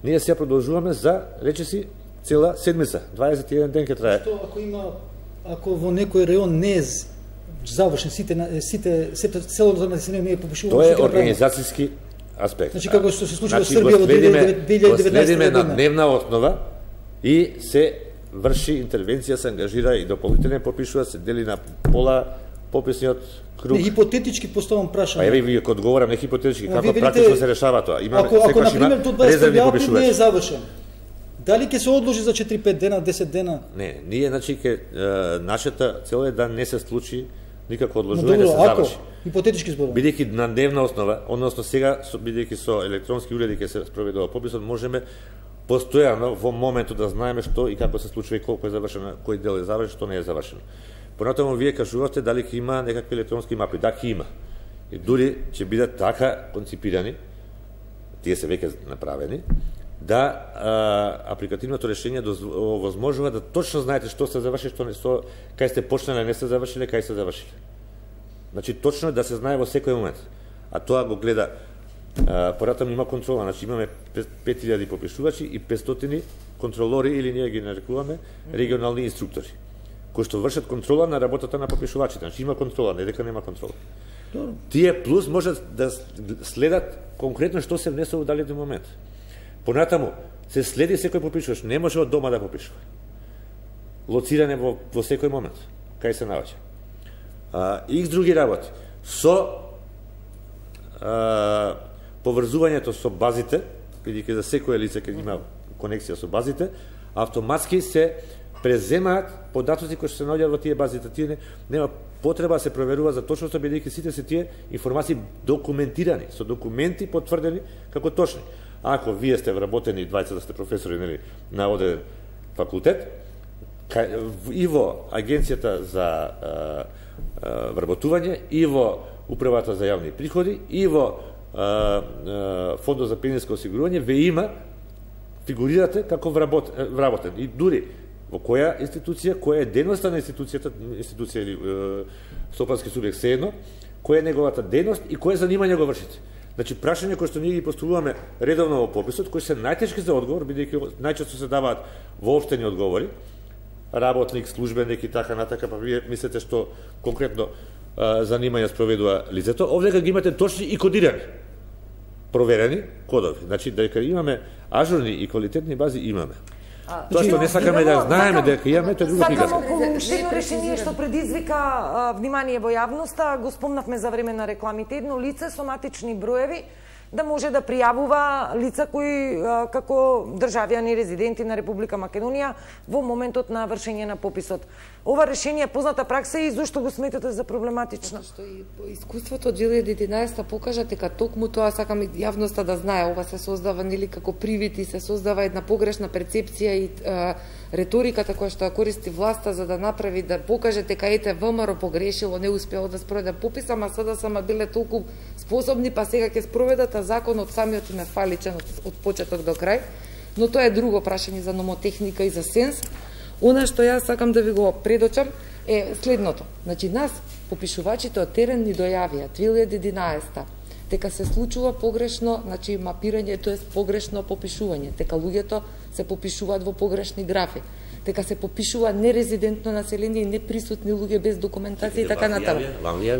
Ние сега продолжуваме за, речиси, цела седмица, 21 ден ќе трае. Што ако во некој реон не е завршен, целото население не е попишувано? Тоа е организацијски аспект. Значи, како што се случи во Србија во 2019 следиме на дневна основа и се врши интервенција, се ангажира и дополнителен попишува, се дели на пола пописниот круг. Не, хипотетички поставам прашање. Еве ви ќе одговорам, не хипотетички, како практично се решава тоа. Ако на пример тоа 21 април не е завршен, дали ќе се одложи за 4-5 дена, 10 дена? Не, ние значи нашата цел е да не се случи никако одложување, да се заврши. Хипотетички зборувам. Бидејќи на дневна основа, односно сега бидејќи со електронски уреди ќе се спроведува пописот, можеме постојано во моментот да знаеме што и како се случува и колку е завршено, кој дел е завршен, што не е завршено. Понатаму вие кажувате дали ќе има некакви електронски мапи. Да, ќе има. И дури ќе бидат така конципирани, тие се веќе направени, да апликативното решение овозможува да точно знаете што се заврши, што не, кај сте почнале, не сте завршиле, кај сте завршиле. Значи точно да се знае во секој момент. А тоа го гледа понатаму има контрола, значи имаме 5000 попишувачи и 500 контролори или ние ги нарекуваме регионални инструктори, кои што вршат контрола на работата на попишувачите. Значи има контрола, не дека нема контрола. Тие плюс можат да следат конкретно што се внесува во даден момент. Понатаму се следи секој попишувач, не може од дома да попишува. лоциране во секој момент, кај се наоѓа. Икс други работи. Со поврзувањето со базите, бидејќи за секој лице ќе има конекција со базите, автоматски се преземаат податоци кои што се наоѓаат во тие базите. Тие нема потреба да се проверува за точноста, бидејќи сите се тие информации документирани, со документи потврдени како точни. Ако вие сте вработени, двајца да сте професори, нели, на одреден факултет, и во Агенцијата за вработување, и во Управата за јавни приходи, и во Фондот за пензионско осигурување ве има, фигурирате како вработен. И дури во која институција, која е дејноста на институција или стопански субјект сеедно, која е неговата дејност и кое занимање го вршите. Значи, прашање кои што ние ги поставуваме редовно во пописот, кои се најтешки за одговор, бидејќи најчесто се даваат воопштени одговори, работник, службеник и така натака, па вие мислите што конкретно занимање спроведува лицето. Овде ги имате точни и кодирани, проверени кодови. Значи, дека имаме ажурни и квалитетни бази, имаме. Тоа што не сакаме да знаеме дека имаме, тоа е друга приказка. Сакам околу едно решение што предизвика внимание во јавноста, го спомнавме за време на рекламите, едно лице со матични броеви да може да пријавува лица кои како државјани резиденти на Република Македонија во моментот на вршење на пописот. Ова решение е позната пракса и зошто го сметате за проблематично? Што и искуството од 2011 покажа дека токму тоа, сакам и јавноста да знае, ова се создава нели како привид и се создава една погрешна перцепција и реториката која што ја користи власта за да направи, да покаже дека ете ВМРО погрешило, не успеало да спроведе попис, ама СДСМ биле толку способни, па сега ќе спроведат, а законот самиот им е фаличен од почеток до крај. Но тоа е друго прашање за номотехника и за сенс. Она што јас сакам да ви го предочам е следното. Значи, нас, попишувачите од терен ни дојавија 2011 дека се случува погрешно, значи мапирање, тоа е погрешно попишување, дека луѓето се попишуваат во погрешни графи, дека се попишува нерезидентно население и неприсутни луѓе без документација и така натаму.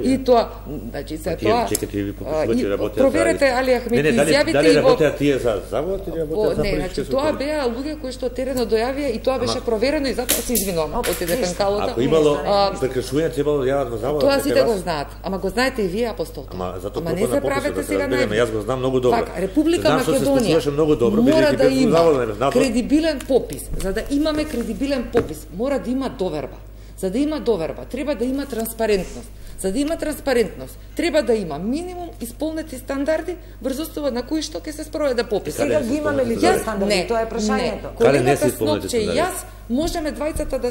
И тоа, значи се тоа. Чекате ви попишувачи работеат. Проверете Али Ахмети изјавите дали работеат тие за завод или работеат за политички? Не, значи тоа беа луѓе кои што терено дојавија и тоа беше проверено и затоа се извинувам. Отиде пенкалото. Ако имало прекршување, требало да јават во завод. Тоа сите го знаат. Ама го знаете и вие, апостолка. Ама не се правете сега на. Јас го знам многу добро. Така, Република Македонија мора да има кредибилен попис. За да имаме кредибилен попис, мора да има доверба. За да има доверба, треба да има транспарентност. За да има транспарентност, треба да има минимум исполнети стандарди врз основа на кои што ќе се спроведе попис. Сега ги имаме ли тие стандарди? Тоа е прашањето. Колегата Снопче и јас можеме двајцата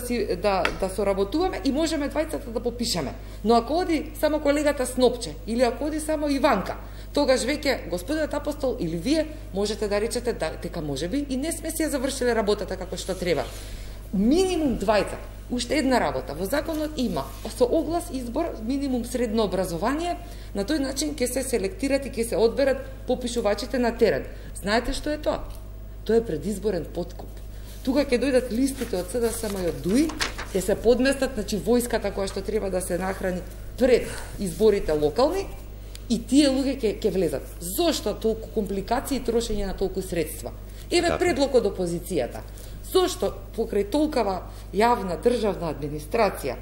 да соработуваме и можеме двајцата да попишеме. Но ако оди само колегата Снопче или ако оди само Иванка, тогаш веќе господинот Апостол или вие можете да речете дека можеби и не сме си ја завршиле работата како што треба. Минимум двајца. Уште една работа. Во законот има со оглас избор минимум средно образование, на тој начин ќе се селектират и ќе се одберат попишувачите на терен. Знаете што е тоа? Тоа е предизборен подкуп. Тука ќе дојдат листите од СДСМ и од ДУИ, ќе се подместат, значи војската која што треба да се нахрани пред изборите локални и тие луѓе ќе влезат. Зошто толку компликации и трошење на толку средства? Еве предлог од опозицијата. Зошто покрај толкава јавна државна администрација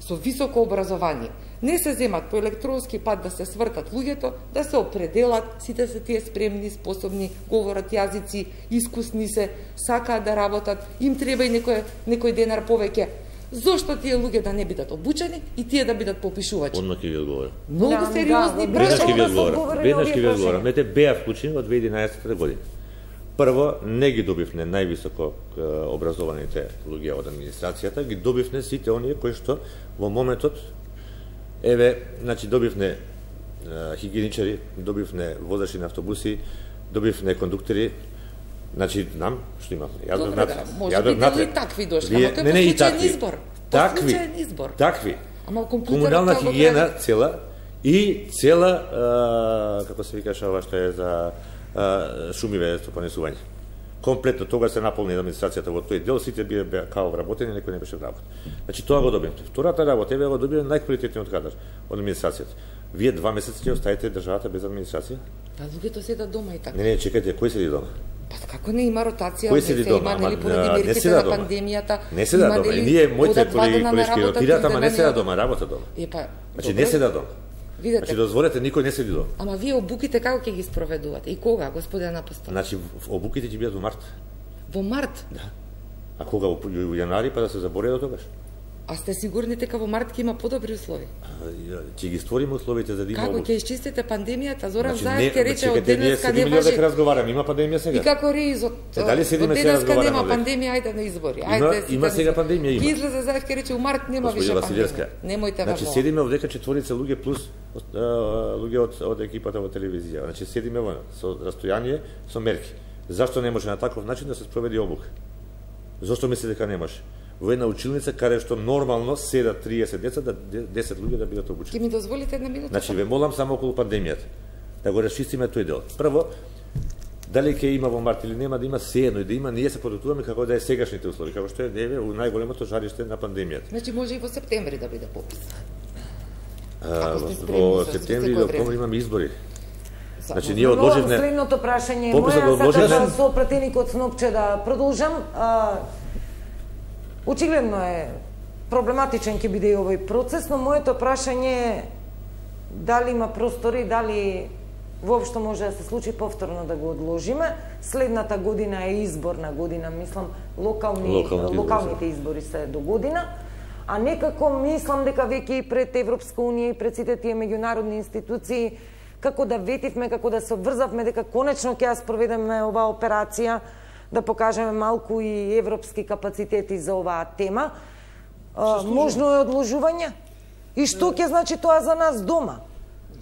со високо образование не се земат по електронски пат да се свртат луѓето, да се определат, сите се тие спремни, способни, говорат јазици, искусни се, сакаат да работат, им треба и некој денар повеќе. Зошто тие луѓе да не бидат обучени и тие да бидат попишувачи? Одма ќе ви одговорам. Многу сериозни прашања. Веднаш ќе ви одговорам. Мете беа вклучени во 2011 година. Прво, не ги добивне највисоко образованите луѓе од администрацијата, ги добивне сите оние кои што во моментот, значи добивне хигиеничари, добивне возачи на автобуси, добивне кондуктори, значи знам што има. Може би дали такви дошли, ама тоа е случаен избор. Такви. Комунална хигиена цела и цела, како се викаше ова што е за шумиве стопанисување. Комплетно тога се наполни администрацијата во тој дел, сите беа као вработени, некој не беше вработен. Значи тоа го добивте. Втората работа го добивте најквалитетниот кадар од администрацијата. Вие 2 месеци ќе оставите државата без администрација? Луѓето седат дома и така. Не, чекајте, кој седи дома? Како не има ротација? Кој седи дома? Има, нели, поради мерките на пандемијата? Не седа дома. Ние, моите колешки ротираат, ама не седа дома, работа дома. Значи, не седа дома. Видете. Значи, дозволете, никој не седи дома. Ама вие обуките како ќе ги спроведувате? И кога, господен Апостол? Значи, обуките ќе бидат во март. Во март? Да. А кога? Во јанари, па да се забори до тогаш. А сте сигурни дека во март ќе има подобри услови? Ќе ги створиме условите за да има. Како ќе исчистите пандемијата? Зоран Значи, Заев ќе рече од денеска не важи. дека разговараме, има пандемија сега. И како реизот? Дали седиме од сега денеска разговараме? нема пандемија, ајде на избори. Ајде. Има сега пандемија, има. Ќе излезе Заев ќе рече у март нема више пандемија. Немојте Значи седиме овдека четворица луѓе плюс луѓе од екипата во телевизија. Значи седиме со растојание, со мерки. Зашто не може на таков начин да се спроведи обука? Зошто мисли дека не може? Во една училница каде што нормално седат 30 деца, да 10 луѓе да бидат обучени. Ќе ми дозволите една минута? Значи ве молам само околу пандемијата да го расчистиме тој дел. Прво, дали ќе има во март или нема да има, сеедно и да има, ние се подготвуваме како да е сегашните услови, како што е деве у најголемото жариште на пандемијата. Значи може и во септември да биде попис. Во септември или октомври имаме избори. Значи ние одложивме. Следното прашање пописот моја, одложивме сакам со пратеникот Снопче да продолжам. Очигледно е проблематичен ќе биде и овој процес, но моето прашање е дали има простори, дали воопшто може да се случи повторно да го одложиме. Следната година е изборна година, мислам, локалните избори се до година, а некако мислам дека веќе и пред Европска унија и пред сите тие меѓународни институции како да ветивме, како да се обврзавме дека конечно ќе ја спроведеме оваа операција, да покажеме малку и европски капацитети за оваа тема. Можно е одложување? И што ќе значи тоа за нас дома?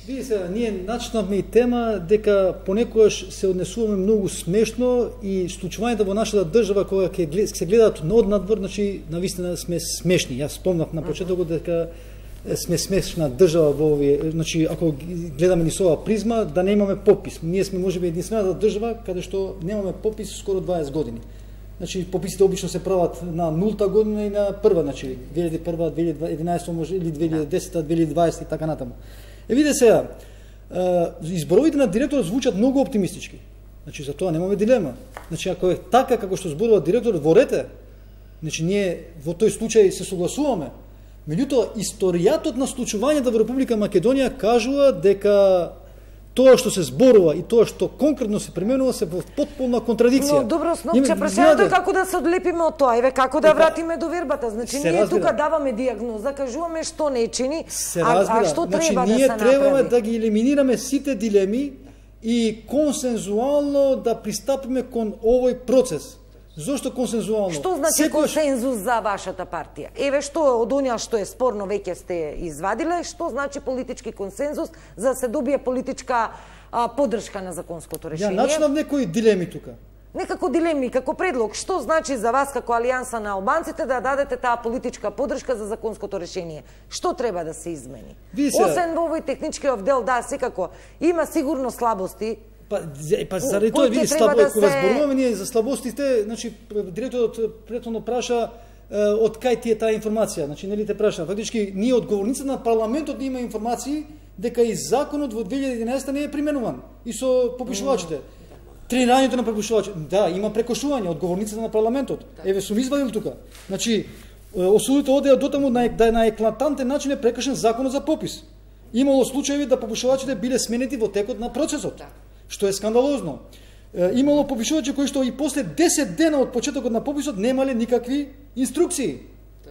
Види се, ние начнавме и тема дека понекогаш се однесуваме многу смешно и случувањата во нашата држава кога се гледаат однадвор, значи навистина сме смешни. Јас спомнав на почетокот дека сме смешна држава во овие, значи ако гледаме ни со оваа призма, да немаме попис. Ние сме можеби единствената држава каде што немаме попис скоро 20 години. Значи пописите обично се прават на нулта година и на прва, значи 2001, 2011 може или 2010, 2020 и така натаму. Виде сега, изборовите на директорот звучат многу оптимистички. Значи за тоа немаме дилема. Значи ако е така како што зборува директорот во рете, значи ние во тој случај се согласуваме. Меѓутоа, историјатот на случувањата во Република Македонија кажува дека тоа што се зборува и тоа што конкретно се применува се во потполна контрадикција. Но добро, Снопче, прашањето е како да се одлепиме од тоа, еве како да вратиме до вербата. Значи ние тука даваме дијагноза, кажуваме што не чини, а што треба да се направи. Ние требаме да ги елиминираме сите дилеми и консензуално да пристапиме кон овој процес. Зошто консензуално? Што значи консензус за вашата партија? Еве што од оние што е спорно веќе сте извадиле, што значи политички консензус за да се добие политичка поддршка на законското решение? Ја начнав некои дилеми тука. Некако дилеми, како предлог, што значи за вас како Алијанса на албанците да дадете таа политичка поддршка за законското решение? Што треба да се измени? Освен во овој техничкиот дел, да, секако има сигурно слабости. Па заради тоа види кога зборуваме ние за слабостите, значи директорот претhodно праша од кај ти е таа информација, значи нели те праша. Фактички ние одговорниците на парламентот има информации дека и законот во 2011 не е применуван и со попишувачите. Тренирањето на попишувачите, да, има прекошување одговорниците на парламентот. Еве сум извадил тука. Значи осудите одеа дотаму да на еклатантен начин е прекршен законот за попис. Имало случаи да попишувачите биле сменети во текот на процесот, што е скандалозно. Имало попишувачи кои што и после 10 дена од почетокот на пописот немале никакви инструкции.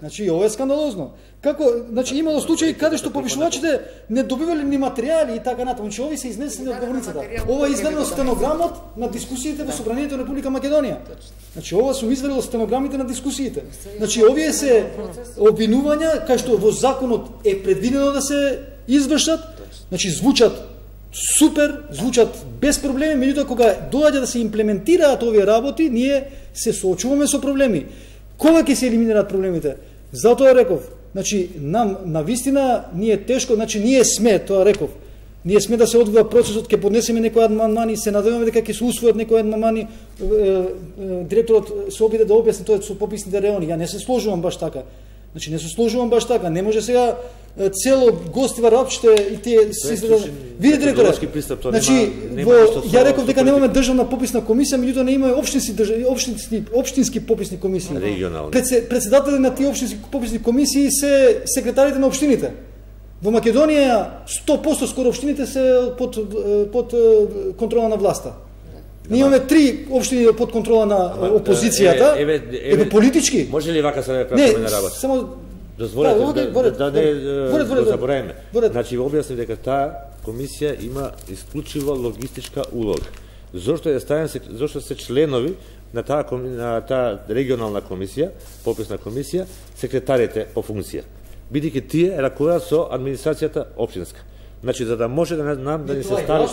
Значи ова е скандалозно. Како, значи имало случаи каде што попишувачите не добивале ни материјали и така натаму. Значи овие се изнесени од говорницата. Ова е изведено стенограмот на дискусиите во Собранието на Република Македонија. Значи ова сум извадил стенограмите на дискусиите. Значи овие се обвинувања кај што во законот е предвидено да се извршат. Значи звучат супер, звучат без проблеми, меѓутоа кога доаѓа да се имплементираат овие работи, ние се соочуваме со проблеми. Кога ќе се елиминираат проблемите? Затоа реков, значи нам навистина ние тешко, значи ние сме, тоа реков. Ние сме да се одвива процесот, ќе поднесеме некои амандмани, се надеваме дека ќе се усвојат некои амандмани. Директорот се обиде да објасни тоа со пописните реони. Ја не се сложувам баш така. Значи не се сложувам баш така, не може сега цело гостива рапчите и тие видите директора. Значи ја реков дека немаме државна пописна комисија, меѓутоа не имаме општински пописни комисии. Регионални. Председатели на тие општински пописни комисии се секретарите на општините. Во Македонија 100% скоро општините се под контрола на власта. Ние имаме 3 општини под контрола на опозицијата. Еве политички. Може ли вака се прашаме на работа? Само дозволете да не забораваме. Значи објаснив дека таа комисија има исклучиво логистичка улога. Зошто се членови на таа регионална комисија, пописна комисија, секретарите по функција. Бидејќи тие ракуваат со администрацијата општинска. Значи за да може да не се стави.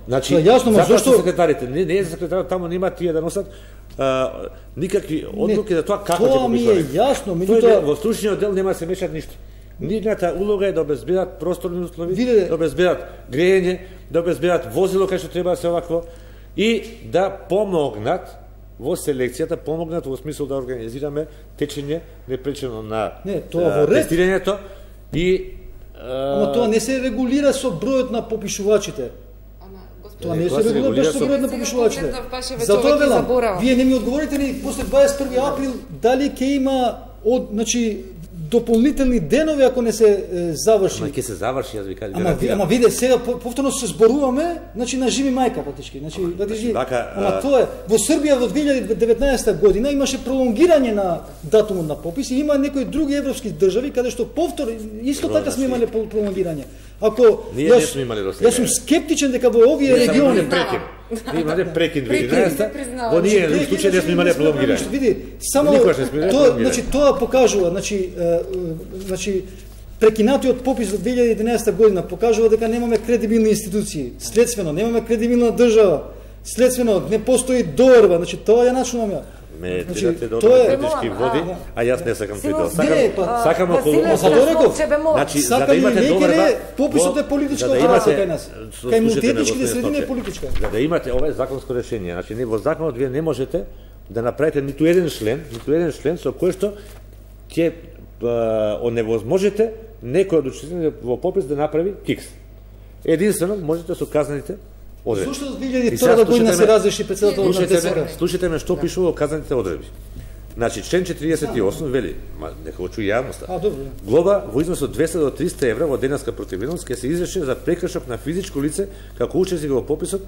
Значи зашто секретарите не за секретарот таму нема тие да носат никакви одлуки за тоа како ќе попишуваат. Тоа ми е јасно, меѓутоа во стручниот дел нема да се мешат ништо. Нивната улога е да обезбедат просторни услови, да обезбедат грејење, да обезбедат возило кај што треба да се овакво и да помогнат во селекцијата, помогнат во смисол да организираме течење непречено на тестирањето и Ама тоа не се регулира со бројот на попишувачите. Тоа не се регулира со бројот на попишувачите. Затоа велам, вие не ми одговорите ни после 21 април дали ќе има значи дополнителни денови ако не се заврши. Ама ќе се заврши, јас ви кажам. Ама виде сега повторно се зборуваме, значи на живи мајка фактички. Значи ама тоа е во Србија во 2019 година имаше пролонгирање на датумот на попис и има некои други европски држави каде што повтор исто така сме имале пролонгирање. Ако јас сум скептичен дека во овие региони Ние имаме прекин 2011, во ние случај не сме имале пролонгирање. Види, само тоа покажува, значи прекинатиот попис за 2011 година покажува дека немаме кредибилни институции. Следствено немаме кредибилна држава. Следствено не постои доверба, значи тоа ја начнувам ја. Ме тирате до политички води, а јас не сакам тој дел. Сакам околу Значи, за да имате доверба, пописот е политичка операција кај нас. Кај мултиетничките средини е политичка. За да имате ова законско решение, значи не во законот вие не можете да направите ниту еден член со кој што ќе оневозможите некој од учесниците во попис да направи кикс. Единствено можете со казаните одредби. Зошто 2002 година се разреши председател на ДСР? Слушайте ме што пишува во казаните одредби. Значи член 48 вели, нека го чуе јавноста. Глоба во износ од 200 до 300 евра во денеска противност ќе се изрече за прекршок на физичко лице како учесник во пописот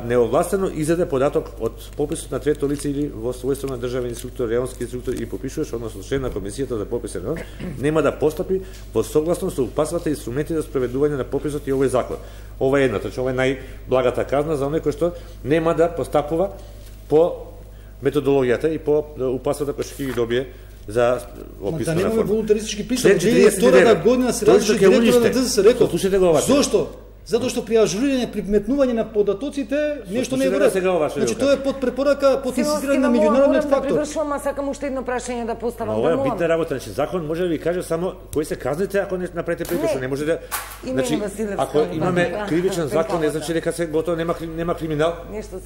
неовластено издаде податок од пописот на трето лице или во својство на државен инструктор, районски инструктор и попишуваш, односно член на комисијата за пописен район, нема да постапи во согласност со упасвата и инструменти за спроведување на пописот и овој закон. Ова е едната, ова е најблагата казна за оној кој што нема да постапува по методологијата и по упасвата кој што ќе ги добие за описана форма. Да немаме волунтаристички присуд. 2002 година се разреши директорот на ДССР. Зошто? Затоа што при ажурирање, при метнување на податоците нешто не е вред. Значи тоа е под препорака, под инсистирање на меѓународниот фактор. Привршувам, а сакам уште едно прашање да поставам. Ова е битна работа, значи закон може да ви каже само кои се казните ако не направите прекршок, не може да. Значи ако имаме кривичен закон, не значи дека се готово нема криминал.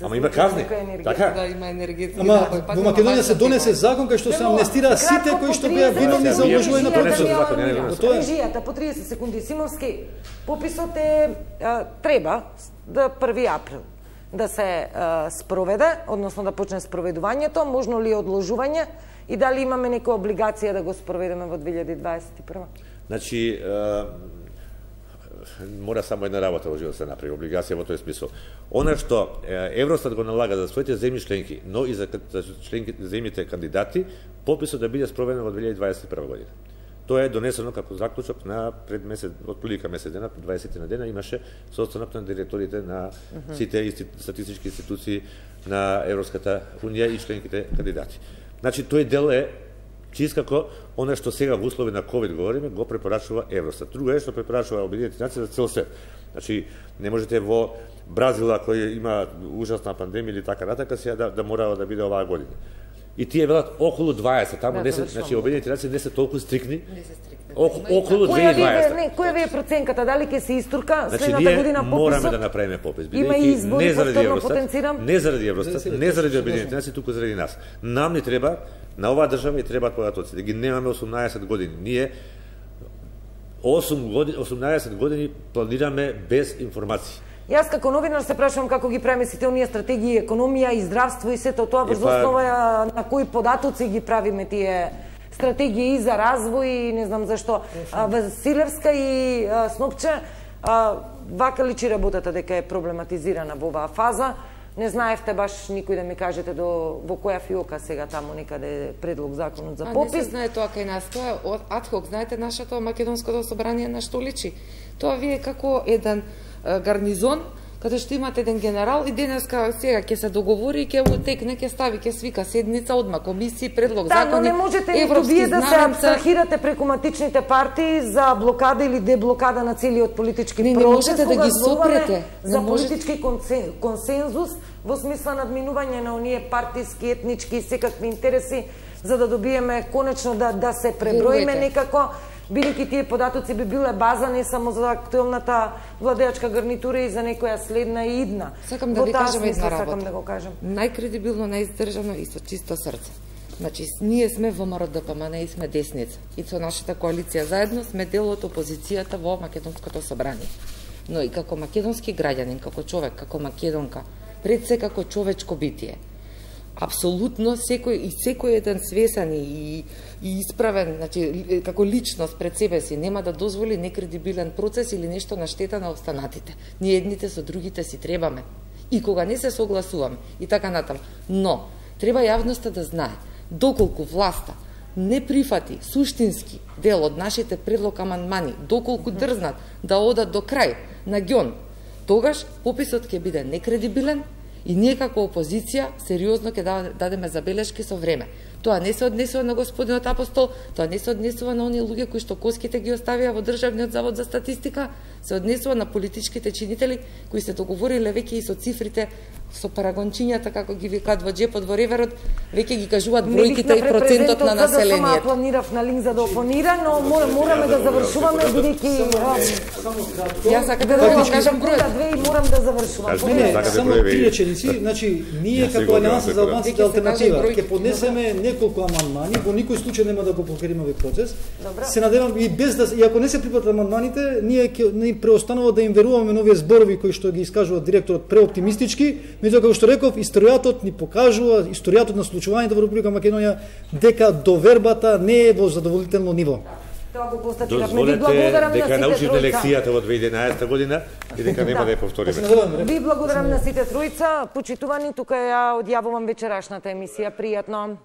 Ама има казни. Така? Да има енергетска. Ама во Македонија се донесе закон кај што се амнестира сите кои што беа виновни за обложување на прекршок. Тоа е режијата по 30 секунди. Симовски, пописот е треба до 1 април да се спроведе, односно да почне спроведувањето, можно ли одложување и дали имаме некоја облигација да го спроведеме во 2021? Значи, мора само една работа во живот се направи, облигација во тој смисол. Она што Евростат го налага за своите земји членки, но и за земјите кандидати, пописот да биде спроведен во 2021 година. Тоа е донесено како заклучок на пред месец, отприлика месец дена, 20 на дена, имаше состанок на директорите на сите статистички институции на Европската унија и членките кандидати. Значи, тој дел е чист како она што сега во услови на ковид говориме, го препорачува Евростат. Друго е што препорачува Обединетите нации за цел свет. Значи, не можете во Бразила кој има ужасна пандемија или така натака сега да мора да биде оваа година. И тие велат околу 20, таму не се, значи Обединетите нации не се толку стрикни. Околу 2020. Која ви е проценката? Дали ќе се истурка следната година пописот? Мораме да направиме попис. Има избори, повторно потенцирам. Не заради Евростат, не заради Обединетите нации, туку заради нас. Нам ни треба На оваа држава и требаат податоци. Да ги немаме 18 години. Ние 18 години планираме без информации. Јас како новинар се прашувам како ги премислите оние стратегии, економија и здравство и сето тоа врз основа на кои податоци ги правиме тие стратегии за развој и не знам зашто. Василевска и Снопче, вака личи работата дека е проблематизирана во оваа фаза. Не знаевте баш никој да ми кажете во која фиока сега таму некаде предлог законот за попис. Не се знае тоа кај нас, тоа е адхок, знаете нашето македонското собрание на што личи. Тоа вие како еден гарнизон, каде што имате еден генерал и денеска сега ќе се договори и ќе утекне, ќе стави, ќе свика седница, одма комисии, предлог закони. Да, но не можете ниту вие да се абстрахирате преку матичните партии за блокада или деблокада на целиот политички процес. Не можете да ги сопрете. За политички консензус во смисла надминување на оние партиски, етнички и секакви интереси, за да добиеме конечно да се преброиме некако, бидејќи тие податоци би биле база не само за актуелната владеачка гарнитура и за некоја следна и идна. Сакам да ви кажам една работа. Сакам да го кажам. Најкредибилно, најиздржано и со чисто срце. Значи, ние сме ВМРО ДПМН и сме десница. И со нашата коалиција заедно сме дел од опозицијата во Македонското собрание. Но и како македонски граѓанин, како човек, како македонка, пред се како човечко битие. Апсолутно секој еден свесен и исправен, значи како личност пред себе си нема да дозволи некредибилен процес или нешто на штета на останатите. Ние едните со другите си требаме. И кога не се согласуваме и така натаму. Но треба јавноста да знае доколку власта не прифати суштински дел од нашите предлог амандмани, доколку дрзнат да одат до крај на ѓон, тогаш пописот ќе биде некредибилен и ние како опозиција сериозно ќе дадеме забелешки со време. Тоа не се однесува на господинот Апостол, тоа не се однесува на оние луѓе кои што коските ги оставија во Државниот завод за статистика, се однесува на политичките чинители кои се договориле веќе и со цифрите, со парагончињата, како ги викаат во джепот во реверот, веќе ги кажуваат бројките и процентот на населението. Не планирав на линк за да опонира, но мораме да завршуваме, бидејќи јас сакам да ви кажам бројот. Две и морам да завршувам. Само три реченици, значи ние како Алијанса за албанците алтернатива ќе поднесеме неколку амандмани, во никој случај нема да го покриеме овој процес. Се надевам и без да и ако не се припатат амандманите, ние ќе преостанува да им веруваме на овие зборови кои што ги искажува директорот преоптимистички. Меѓутоа, како што реков, историјатот ни покажува, историјатот на случувањето во Република Македонија, дека довербата не е во задоволително ниво. Тоа го констатиравме. Дозволете дека научивме лекцијата во 2011 година и дека нема да ја повториме. Ви благодарам на сите тројца. Почитувани, тука ја одјавувам вечерашната емисија. Пријатно.